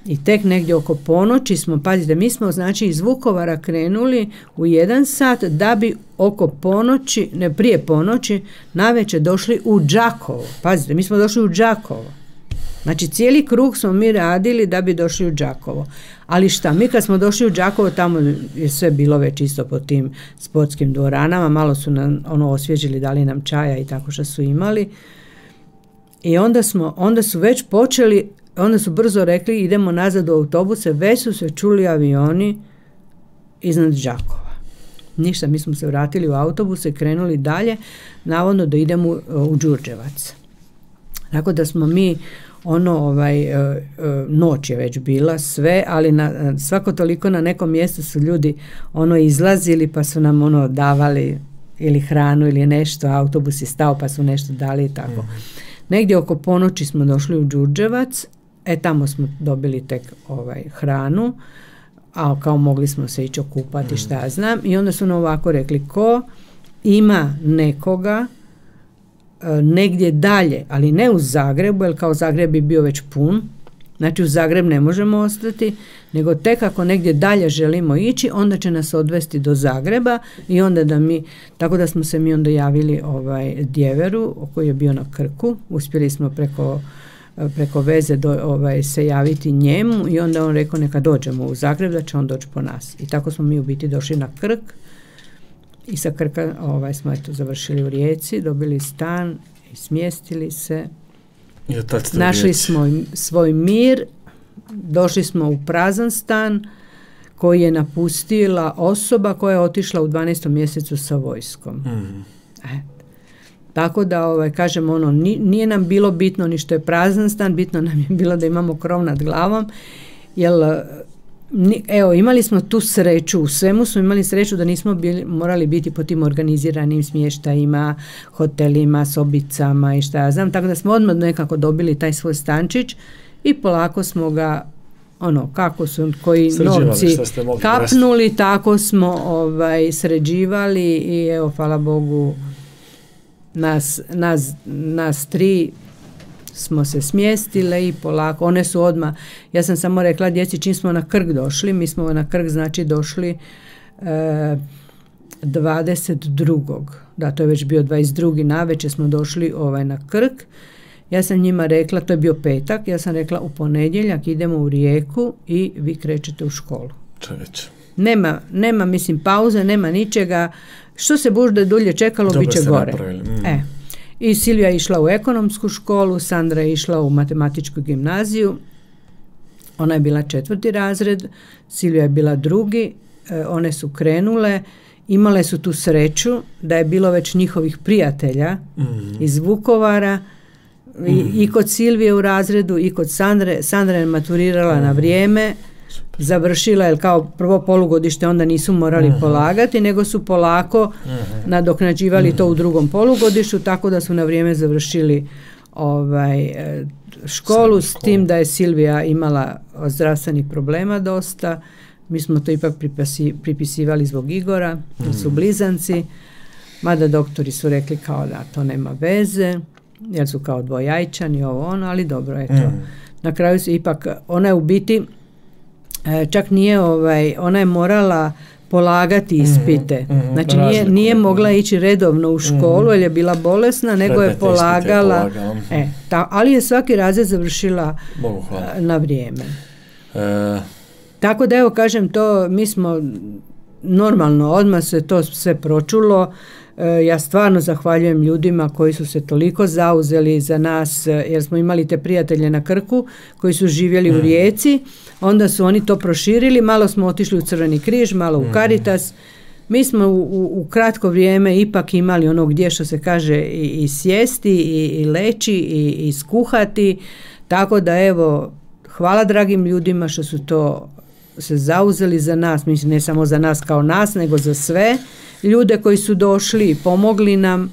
I tek negdje oko ponoći smo, pazite, mi smo znači iz Vukovara krenuli u 1 sat da bi oko ponoći, ne prije ponoći, navečer došli u Đakovo. Pazite, mi smo došli u Đakovo. Znači cijeli krug smo mi radili da bi došli u Đakovo. Ali šta, mi kad smo došli u Đakovo, tamo je sve bilo već isto po tim sportskim dvoranama, malo su nam osvježili, dali nam čaja i tako što su imali. I onda su već počeli, onda su brzo rekli idemo nazad u autobuse, već su se čuli avioni iznad Đakova. Ništa, mi smo se vratili u autobuse i krenuli dalje, navodno da idemo u Đurđevac. Tako da smo mi noć je već bila sve, ali svako toliko na nekom mjestu su ljudi izlazili pa su nam davali ili hranu ili nešto, autobus je stao pa su nešto dali i tako. Negdje oko ponoći smo došli u Đurđevac, tamo smo dobili tek hranu, a kao mogli smo se ići okupati, šta ja znam, i onda su nam ovako rekli, ko ima nekoga negdje dalje, ali ne u Zagrebu, jer kao Zagreb bi bio već pun, znači u Zagreb ne možemo ostati, nego tek ako negdje dalje želimo ići, onda će nas odvesti do Zagreba i onda tako da smo se mi onda javili Djeveru koji je bio na Krku, uspjeli smo preko veze se javiti njemu i onda on rekao neka dođemo u Zagreb, da će on doći po nas. I tako smo mi u biti došli na Krk i sa Krka smo završili u Rijeci, dobili stan i smjestili se. Našli smo svoj mir, došli smo u prazan stan koji je napustila osoba koja je otišla u 12. mjesecu sa vojskom. Tako da, kažem, nije nam bilo bitno ni što je prazan stan, bitno nam je bilo da imamo krov nad glavom, jer imali smo tu sreću, u svemu smo imali sreću da nismo morali biti po tim organiziranim smještajima, hotelima, sobicama i šta ja znam, tako da smo odmah nekako dobili taj svoj stančić i polako smo ga, kako su koji novci kapnuli, tako smo sređivali i hvala Bogu, nas 3 smo se smjestile i polako, one su odmah, ja sam samo rekla djeci čim smo na Krk došli, mi smo na Krk znači došli 22. Da, to je već bio 22. navečer smo došli na Krk. Ja sam njima rekla, to je bio petak, ja sam rekla u ponedjeljak idemo u Rijeku i vi krećete u školu. Čovječ. Nema mislim pauze, nema ničega, što se bude dulje čekalo, bit će gore. I Silvija je išla u ekonomsku školu, Sandra je išla u matematičku gimnaziju, ona je bila 4. razred, Silvija je bila 2. One su krenule, imale su tu sreću da je bilo već njihovih prijatelja iz Vukovara, i kod Silvije u razredu i kod Sandre. Sandra je maturirala na vrijeme, završila, jer kao prvo polugodište onda nisu morali polagati, nego su polako nadoknađivali to u drugom polugodištu, tako da su na vrijeme završili školu, s tim da je Silvija imala zdravstvenih problema dosta. Mi smo to ipak pripisivali zbog Igora, jer su blizanci, mada doktori su rekli kao da to nema veze, jer su kao dvojajčani, ali dobro, eto. Na kraju se ipak, ona je u biti, čak nije, ona je morala polagati ispite. Znači nije mogla ići redovno u školu, jer je bila bolesna, nego je polagala. Ali je svaki razred završila na vrijeme. Tako da evo kažem to, mi smo normalno, odmah se to sve pročulo. Ja stvarno zahvaljujem ljudima koji su se toliko zauzeli za nas, jer smo imali te prijatelje na Krku koji su živjeli u Rijeci, onda su oni to proširili, malo smo otišli u Crveni križ, malo u Caritas. Mi smo u kratko vrijeme ipak imali ono gdje, što se kaže, i sjesti i leći i skuhati, tako da evo, hvala dragim ljudima što su to se zauzeli za nas, mislim ne samo za nas kao nas, nego za sve ljude koji su došli i pomogli nam,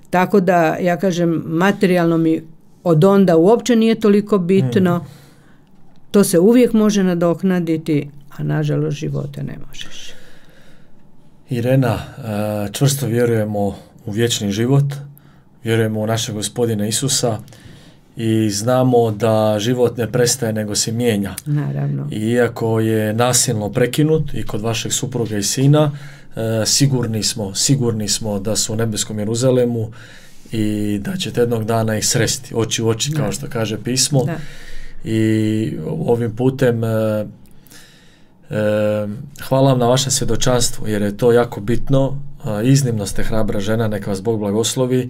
tako da ja kažem, materijalno mi od onda uopće nije toliko bitno, to se uvijek može nadoknaditi, a nažalost živote ne možeš. Irena, čvrsto vjerujemo u vječni život, vjerujemo u našeg Gospodina Isusa i znamo da život ne prestaje nego se mijenja. Naravno. I iako je nasilno prekinut i kod vašeg supruga i sina, sigurni smo da su u nebeskom Jeruzalemu i da ćete jednog dana ih sresti oči u oči, kao što kaže pismo. Da. I ovim putem hvala vam na vašem svjedočanstvu, jer je to jako bitno. Iznimno ste hrabra žena, neka vas Bog blagoslovi.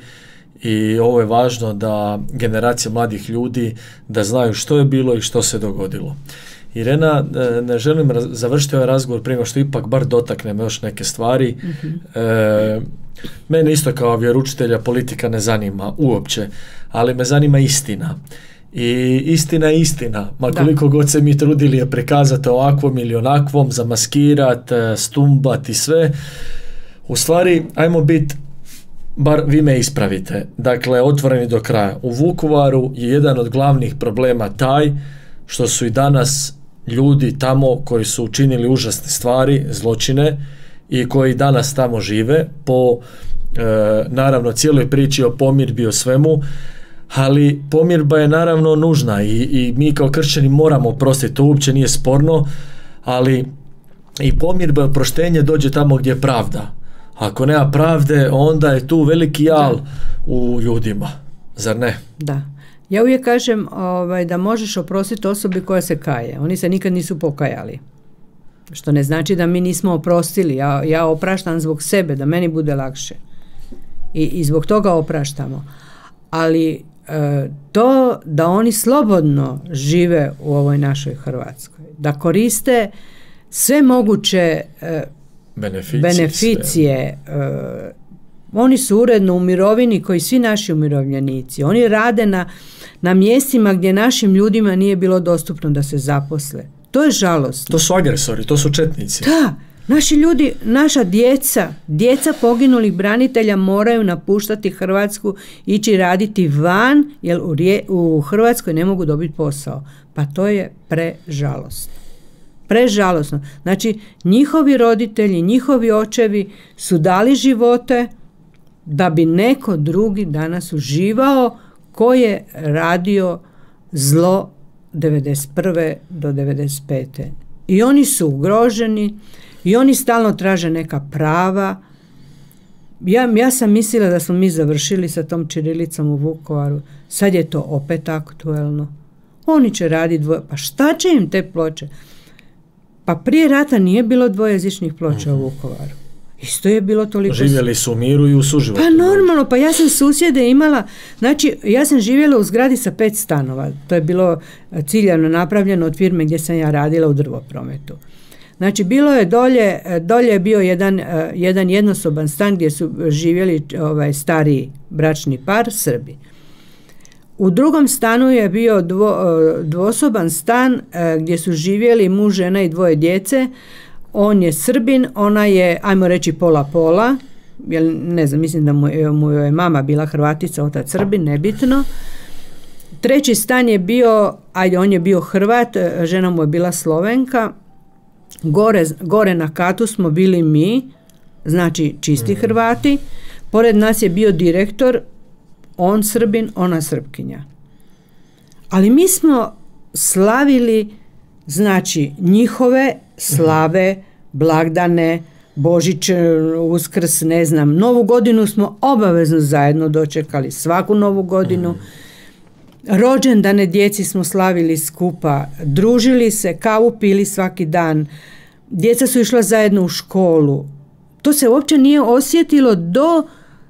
I ovo je važno da generacija mladih ljudi da znaju što je bilo i što se dogodilo. Irena, ne želim završiti ovaj razgovor prije što ipak bar dotaknemo još neke stvari. Mene isto kao vjeroučitelja politika ne zanima uopće, ali me zanima istina. I istina je istina. Ma koliko god se mi trudili je prikazati ovakvom ili onakvom, zamaskirati, stumbati sve. U stvari, ajmo biti, bar vi me ispravite, dakle, otvoreni do kraja. U Vukovaru je jedan od glavnih problema taj što su i danas ljudi tamo koji su učinili užasne stvari, zločine, i koji danas tamo žive po naravno cijeloj priči o pomirbi, o svemu, ali pomirba je naravno nužna i mi kao kršćani moramo oprostiti, to uopće nije sporno, ali i pomirba i oproštenje dođe tamo gdje je pravda. Ako nema pravde, onda je tu veliki jal u ljudima, zar ne? Da. Ja uvijek kažem da možeš oprostiti osobi koja se kaje. Oni se nikad nisu pokajali. Što ne znači da mi nismo oprostili. Ja opraštam zbog sebe, da meni bude lakše. I zbog toga opraštamo. Ali to da oni slobodno žive u ovoj našoj Hrvatskoj, da koriste sve moguće beneficije. Oni su uredno u mirovini koji svi naši umirovljenici. Oni rade na mjestima gdje našim ljudima nije bilo dostupno da se zaposle. To je žalostno. To su agresori, to su četnici. Da, naši ljudi, naša djeca poginulih branitelja moraju napuštati Hrvatsku, ići raditi van, jer u Hrvatskoj ne mogu dobiti posao. Pa to je prežalostno. Prežalosno. Znači, njihovi roditelji, njihovi očevi su dali živote da bi neko drugi danas uživao ko je radio zlo 91. do 95. I oni su ugroženi i oni stalno traže neka prava. Ja sam mislila da smo mi završili sa tom ćirilicom u Vukovaru. Sad je to opet aktuelno. Oni će raditi pa šta će im te ploče? Pa prije rata nije bilo dvojezičnih ploča u Vukovaru. Isto je bilo toliko... Živjeli su u miru i u suživotu. Pa normalno, pa ja sam susjede imala, znači ja sam živjela u zgradi sa 5 stanova. To je bilo ciljano napravljeno od firme gdje sam ja radila u drvoprometu. Znači bilo je dolje je bio jedan jednosoban stan gdje su živjeli stariji bračni par, Srbi. U drugom stanu je bio dvosoban stan gdje su živjeli muž, žena i 2 djece. On je Srbin, ona je, ajmo reći, pola-pola, jer ne znam, mislim da mu je mama bila Hrvatica, otac Srbin, nebitno. Treći stan je bio, on je bio Hrvat, žena mu je bila Slovenka. Gore na katu smo bili mi, znači čisti Hrvati. Pored nas je bio direktor, on Srbin, ona Srpkinja. Ali mi smo slavili, znači, njihove slave, blagdane, Božić, Uskrs, ne znam, Novu godinu smo obavezno zajedno dočekali, svaku Novu godinu. rođendane djeci smo slavili skupa, družili se, kavu pili svaki dan, djeca su išla zajedno u školu. To se uopće nije osjetilo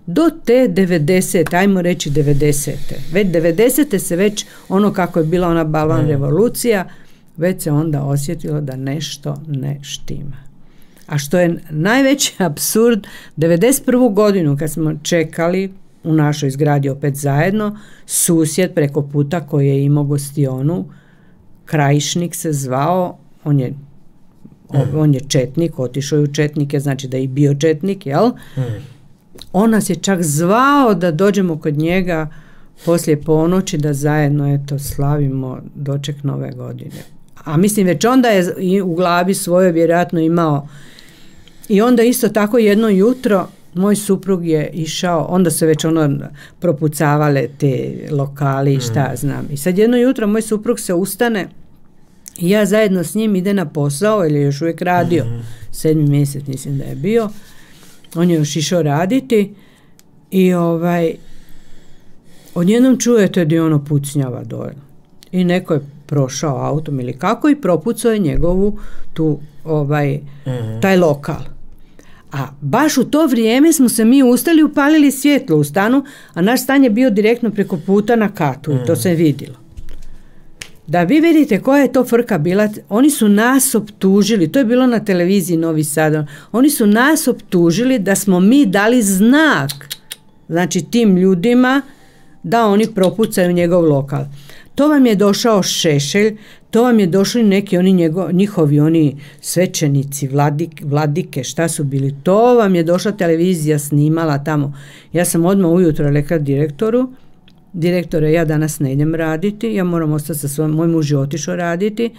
do te 90. ajmo reći 90. Već 90. se već ono kako je bila ona balvan revolucija, već se onda osjetilo da nešto ne štima. A što je najveći apsurd, 91. godinu kad smo čekali u našoj zgradi opet zajedno, susjed preko puta koji je imao gostionu, Krajišnik se zvao, on je četnik, otišao je u četnike, znači da je i bio četnik, jel? On nas je čak zvao da dođemo kod njega poslije ponoći da zajedno slavimo doček nove godine. A mislim već onda je u glavi svojoj vjerojatno imao. I onda isto tako jedno jutro moj suprug je išao, onda se već propucavale te lokali, šta znam. I sad jedno jutro moj suprug se ustane i ja zajedno s njim ide na posao, jer je još uvijek radio, 7. mjesec mislim da je bio. On je još išao raditi i odjednom čujete da je ono pucnjava dole. I neko je prošao autom ili kako i propucao je njegovu taj lokal. A baš u to vrijeme smo se mi ustali, upalili svjetlo u stanu, a naš stan je bio direktno preko puta na katu i to se vidjelo. Da vi vidite koja je to frka bila, oni su nas optužili, to je bilo na televiziji Novi Sad, oni su nas optužili da smo mi dali znak, znači tim ljudima, da oni propucaju njegov lokal. To vam je došao Šešelj, to vam je došli neki njihovi svećenici, vladike, šta su bili, to vam je došla televizija snimala tamo. Ja sam odmah ujutro rekla direktoru, direktore, ja danas ne idem raditi, ja moram ostati sa svojom, moj muž je otišao raditi,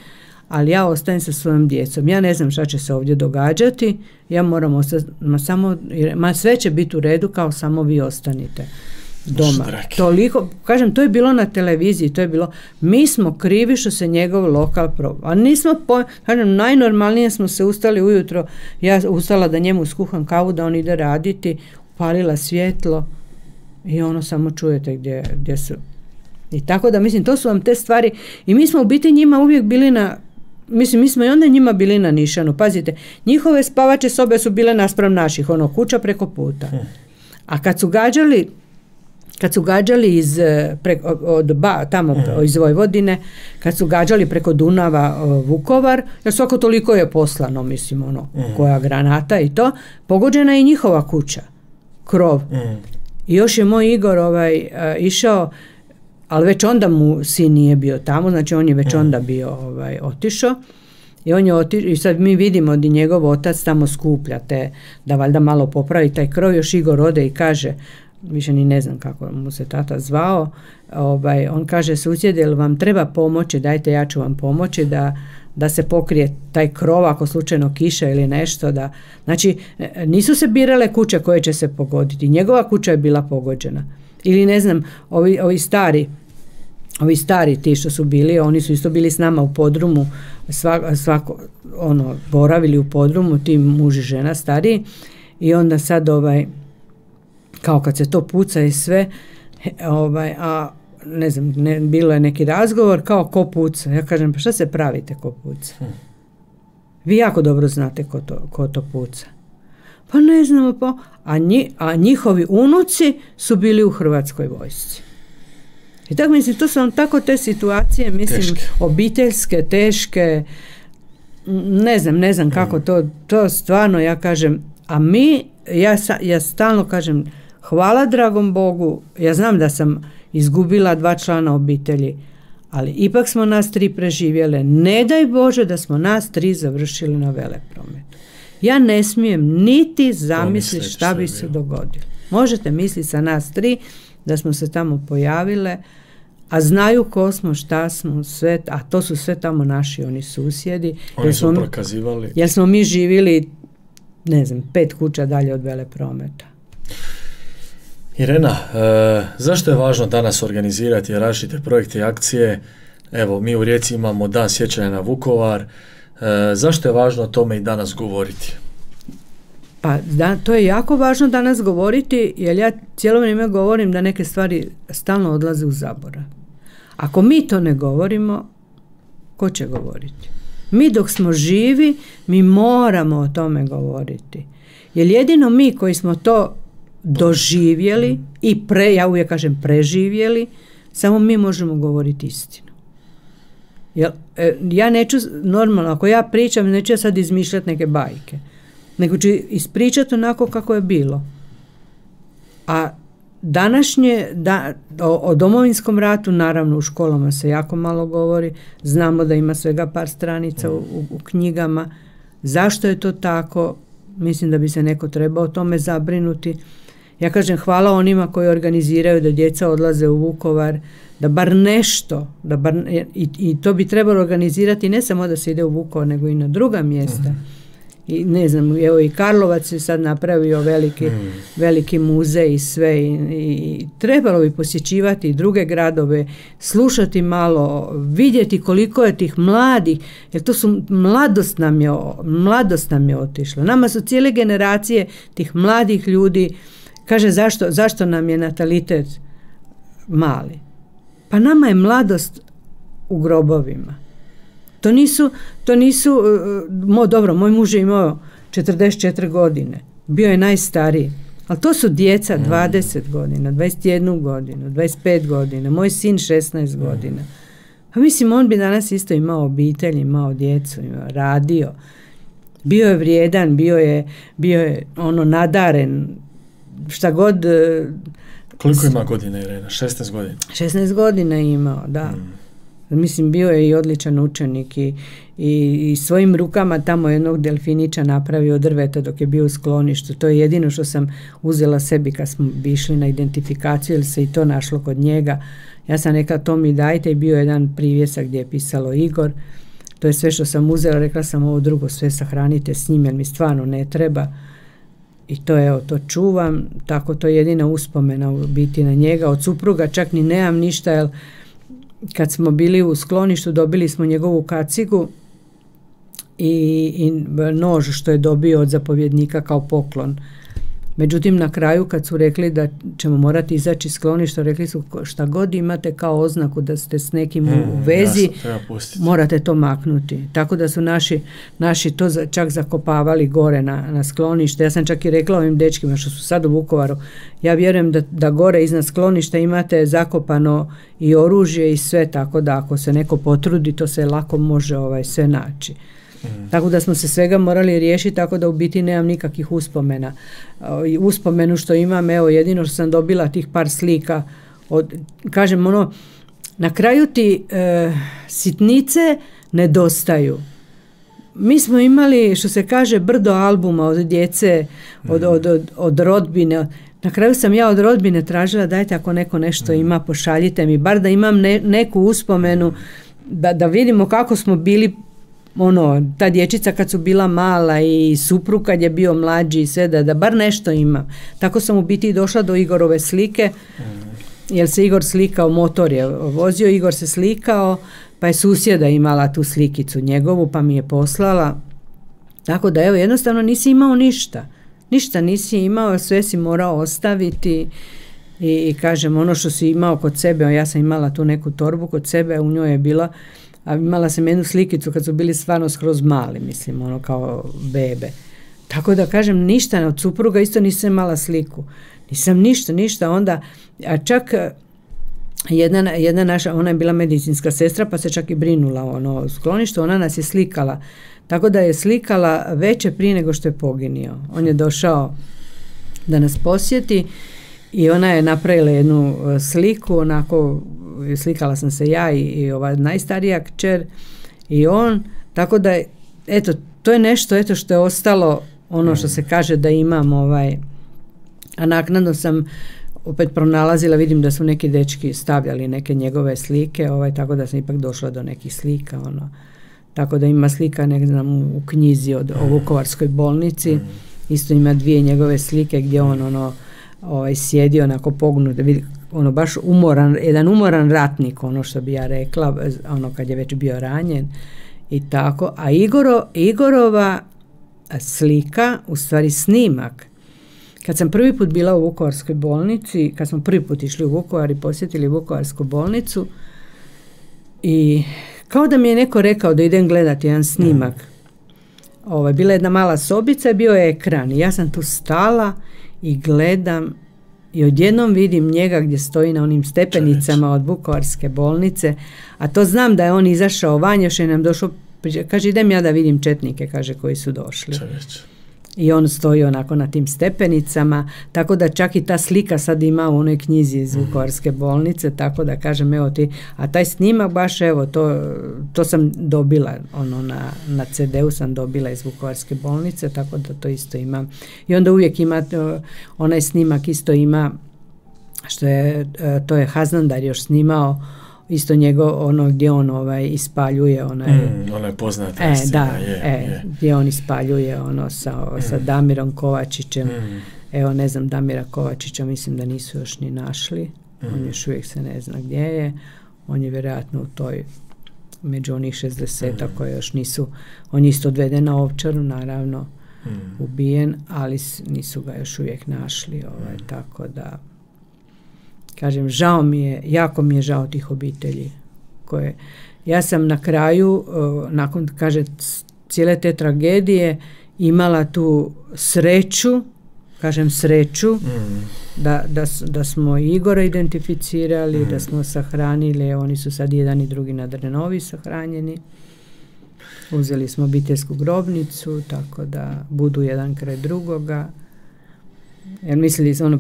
ali ja ostajem sa svojom djecom. Ja ne znam šta će se ovdje događati, ja moram ostati, sve će biti u redu, kao samo vi ostanite doma. Toliko, kažem, to je bilo na televiziji, to je bilo, mi smo krivi što se njegov lokal a nismo, kažem, najnormalnije smo se ustali ujutro, ja ustala da njemu skuham kavu, da on ide raditi, upalila svjetlo, i samo čujete gdje su. I tako da, mislim, to su vam te stvari. I mi smo u biti njima uvijek bili mi smo i onda njima bili na nišanu. Pazite, njihove spavače sobe su bile naspram naših, kuća preko puta. A kad su gađali iz Vojvodine, kad su gađali preko Dunava Vukovar, jer svako toliko je poslano, mislim, koja granata i to, pogođena je i njihova kuća, krov. I još je moj Igor išao, ali već onda mu sin nije bio tamo, znači on je već onda bio otišao. I sad mi vidimo da njegov otac tamo skuplja da valjda malo popravi taj krov. Još Igor ode i kaže, više ni ne znam kako mu se tata zvao, on kaže, susjede, jel vam treba pomoći, dajte, ja ću vam pomoći da se pokrije taj krov ako slučajno kiša ili nešto. Znači, nisu se birale kuće koje će se pogoditi. Njegova kuća je bila pogođena. Ili ne znam, ovi stari ti što su bili, oni su isto bili s nama u podrumu, boravili u podrumu, ti muž i žena stariji, i onda sad kao kad se to puca i sve, ne znam, bilo je neki razgovor, kao ko puca. Ja kažem, pa šta se pravite ko puca? Vi jako dobro znate ko to puca. Pa ne znamo, a njihovi unuci su bili u Hrvatskoj vojsci. I tako, mislim, to su vam tako te situacije, mislim, teške. Obiteljske, teške, ne znam kako to stvarno, ja kažem, a ja stalno kažem, hvala dragom Bogu, ja znam da sam izgubila 2 člana obitelji, ali ipak smo nas 3 preživjele. Ne daj Bože da smo nas 3 završili na Veleprometu. Ja ne smijem niti zamisliti šta bi se dogodilo. Možete misliti sa nas 3 da smo se tamo pojavile, a znaju ko smo, šta smo, sve, a to su sve tamo naši oni susjedi. Oni su prokazivali. Jer smo mi živjeli, ne znam, 5 kuća dalje od Veleprometa. Irena, zašto je važno danas organizirati različite projekte i akcije? Evo, mi u Rijeci imamo Dan sjećanja na Vukovar. Zašto je važno o tome i danas govoriti? Pa to je jako važno danas govoriti, jer ja cijelo vrijeme govorim da neke stvari stalno odlaze u zaborav. Ako mi to ne govorimo, ko će govoriti? Mi dok smo živi, mi moramo o tome govoriti. Jer jedino mi koji smo to doživjeli i ja uvijek kažem preživjeli, samo mi možemo govoriti istinu. Ja neću, normalno, ako ja pričam, neću ja sad izmišljati neke bajke, nego ću ispričati onako kako je bilo. A današnje, o Domovinskom ratu, naravno u školama se jako malo govori, znamo da ima svega par stranica u knjigama. Zašto je to tako? Mislim da bi se neko trebao o tome zabrinuti. Ja kažem hvala onima koji organiziraju da djeca odlaze u Vukovar, da bar nešto, i to bi trebalo organizirati ne samo da se ide u Vukovar, nego i na druga mjesta. I ne znam, evo i Karlovac je sad napravio veliki muzej i sve i trebalo bi posjećivati i druge gradove, slušati malo, vidjeti koliko je tih mladih, jer to su mladost nam je otišla. Nama su cijele generacije tih mladih ljudi. Kaže zašto nam je natalitet mali? Pa nama je mladost u grobovima. To nisu dobro, moj muž je imao 44 godine, bio je najstariji, ali to su djeca 20 godina, 21 godinu, 25 godina, moj sin 16 godina. Pa mislim, on bi danas isto imao obitelj, imao djecu, radio, bio je vrijedan, bio je nadaren, šta god. Koliko ima godina Irena? 16 godina? 16 godina je imao, da. Mislim, bio je i odličan učenik i svojim rukama tamo jednog delfinića napravio od drveta dok je bio u skloništu. To je jedino što sam uzela sebi kad smo išli na identifikaciju, jer se i to našlo kod njega. Ja sam rekla to mi dajte i bio je jedan privjesak gdje je pisalo Igor. To je sve što sam uzela, rekla sam ovo drugo sve sahranite s njim jer mi stvarno ne treba. I to čuvam, tako to je jedina uspomena u biti na njega. Od supruga čak ni nemam ništa, jer kad smo bili u skloništu dobili smo njegovu kacigu i nož što je dobio od zapovjednika kao poklon. Međutim, na kraju kad su rekli da ćemo morati izaći iz skloništa, rekli su šta god imate kao oznaku da ste s nekim u vezi, morate to maknuti. Tako da su naši to čak zakopavali gore na sklonište. Ja sam čak i rekla ovim dečkima što su sad u Vukovaru, ja vjerujem da gore iznad skloništa imate zakopano i oružje i sve, tako da ako se neko potrudi, to se lako može sve naći. Tako da smo se svega morali riješiti, tako da u biti nemam nikakvih uspomena. Uspomenu što imam, evo jedino što sam dobila tih par slika, kažem na kraju ti sitnice nedostaju. Mi smo imali, što se kaže, brdo albuma od djece, od rodbine. Na kraju sam ja od rodbine tražila, dajte ako neko nešto ima, pošaljite mi, bar da imam neku uspomenu, da vidimo kako smo bili, ta dječica kad su bila mala i suprug kad je bio mlađi i sve, da bar nešto imam. Tako sam u biti došla do Igorove slike, jer se Igor slikao, motor je vozio, Igor se slikao, pa je susjeda imala tu slikicu njegovu, pa mi je poslala. Tako da, evo, jednostavno nisi imao ništa. Ništa nisi imao, sve si morao ostaviti i kažem, ono što si imao kod sebe, ja sam imala tu neku torbu kod sebe, u njoj je bila, a imala sam jednu slikicu kad su bili stvarno skroz mali, mislim, kao bebe. Tako da kažem, ništa, od supruga isto nisam imala sliku. Nisam ništa, onda, a čak jedna naša, ona je bila medicinska sestra, pa se čak i brinula o skloništu, ona nas je slikala. Tako da je slikala veće prije nego što je poginio. On je došao da nas posjeti i ona je napravila jednu sliku, onako, slikala sam se ja i ova najstarija kćer i on, tako da, eto, to je nešto, eto, što je ostalo, što se kaže da imam, a naknadno sam opet pronalazila, vidim da su neki dečki stavljali neke njegove slike, tako da sam ipak došla do nekih slika, tako da ima slika, ne znam, u knjizi o Vukovarskoj bolnici, isto ima 2 njegove slike gdje on sjedi onako pognut, baš jedan umoran ratnik, što bi ja rekla, kad je već bio ranjen i tako. A Igorova slika, u stvari snimak, kad sam prvi put bila u Vukovarskoj bolnici, kad smo prvi put išli u Vukovar i posjetili Vukovarsku bolnicu, I kao da mi je neko rekao da idem gledati jedan snimak. Bila je jedna mala sobica i bio je ekran. I ja sam tu stala i gledam i odjednom vidim njega gdje stoji na onim stepenicama od Vukovarske bolnice, a to znam da je on izašao van, još je nam došao, kaže idem ja da vidim četnike, kaže, koji su došli. I on stoji onako na tim stepenicama, tako da čak i ta slika sad ima u onoj knjizi iz Vukovarske bolnice, tako da kažem, evo ti, a taj snimak baš, evo, to sam dobila, na CD-u sam dobila iz Vukovarske bolnice, tako da to isto imam. I onda uvijek ima, onaj snimak isto ima, to je Haznandar još snimao, isto njegov, gdje on ispaljuje onaj poznata scena, gdje on ispaljuje sa Damirom Kovačićem. Evo, ne znam, Damira Kovačića mislim da nisu još ni našli, on još uvijek se ne zna gdje je, on je vjerojatno u toj, među onih 60 koje još nisu, on je isto odveden na Ovčaru, naravno, ubijen, ali nisu ga još uvijek našli, tako da kažem, žao mi je, jako mi je žao tih obitelji koje, ja sam na kraju, nakon, kaže, cijele te tragedije imala tu sreću, kažem sreću, da smo Igora identificirali, da smo sahranili, oni su sad jedan i drugi na Drenovi sahranjeni, uzeli smo obiteljsku grobnicu, tako da budu jedan kraj drugoga. Jer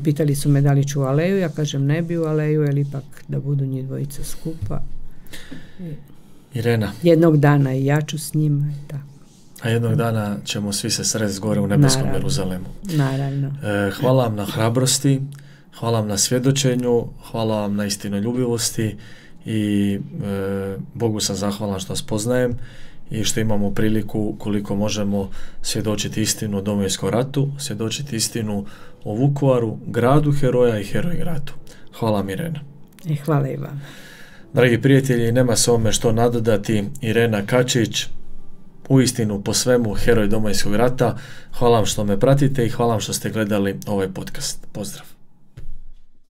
pitali su me da li ću u aleju, ja kažem ne bi u aleju, jer ipak da budu njih dvojica skupa. Irena. Jednog dana i ja ću s njima i tako. A jednog dana ćemo svi se sresti gore u nebeskom Jeruzalemu. Naravno. Hvala vam na hrabrosti, hvala vam na svjedočenju, hvala vam na istinoljubivosti i Bogu sam zahvalan što vas poznajem i što imamo priliku koliko možemo svjedočiti istinu o Domovinskom ratu, svjedočiti istinu o Vukovaru, gradu heroja i heroj gradu. Hvala vam, Irena. I hvala i vam. Dragi prijatelji, nema se ovome što nadodati. Irena Kačić, uistinu po svemu heroj Domovinskog rata. Hvala vam što me pratite i hvala vam što ste gledali ovaj podcast. Pozdrav.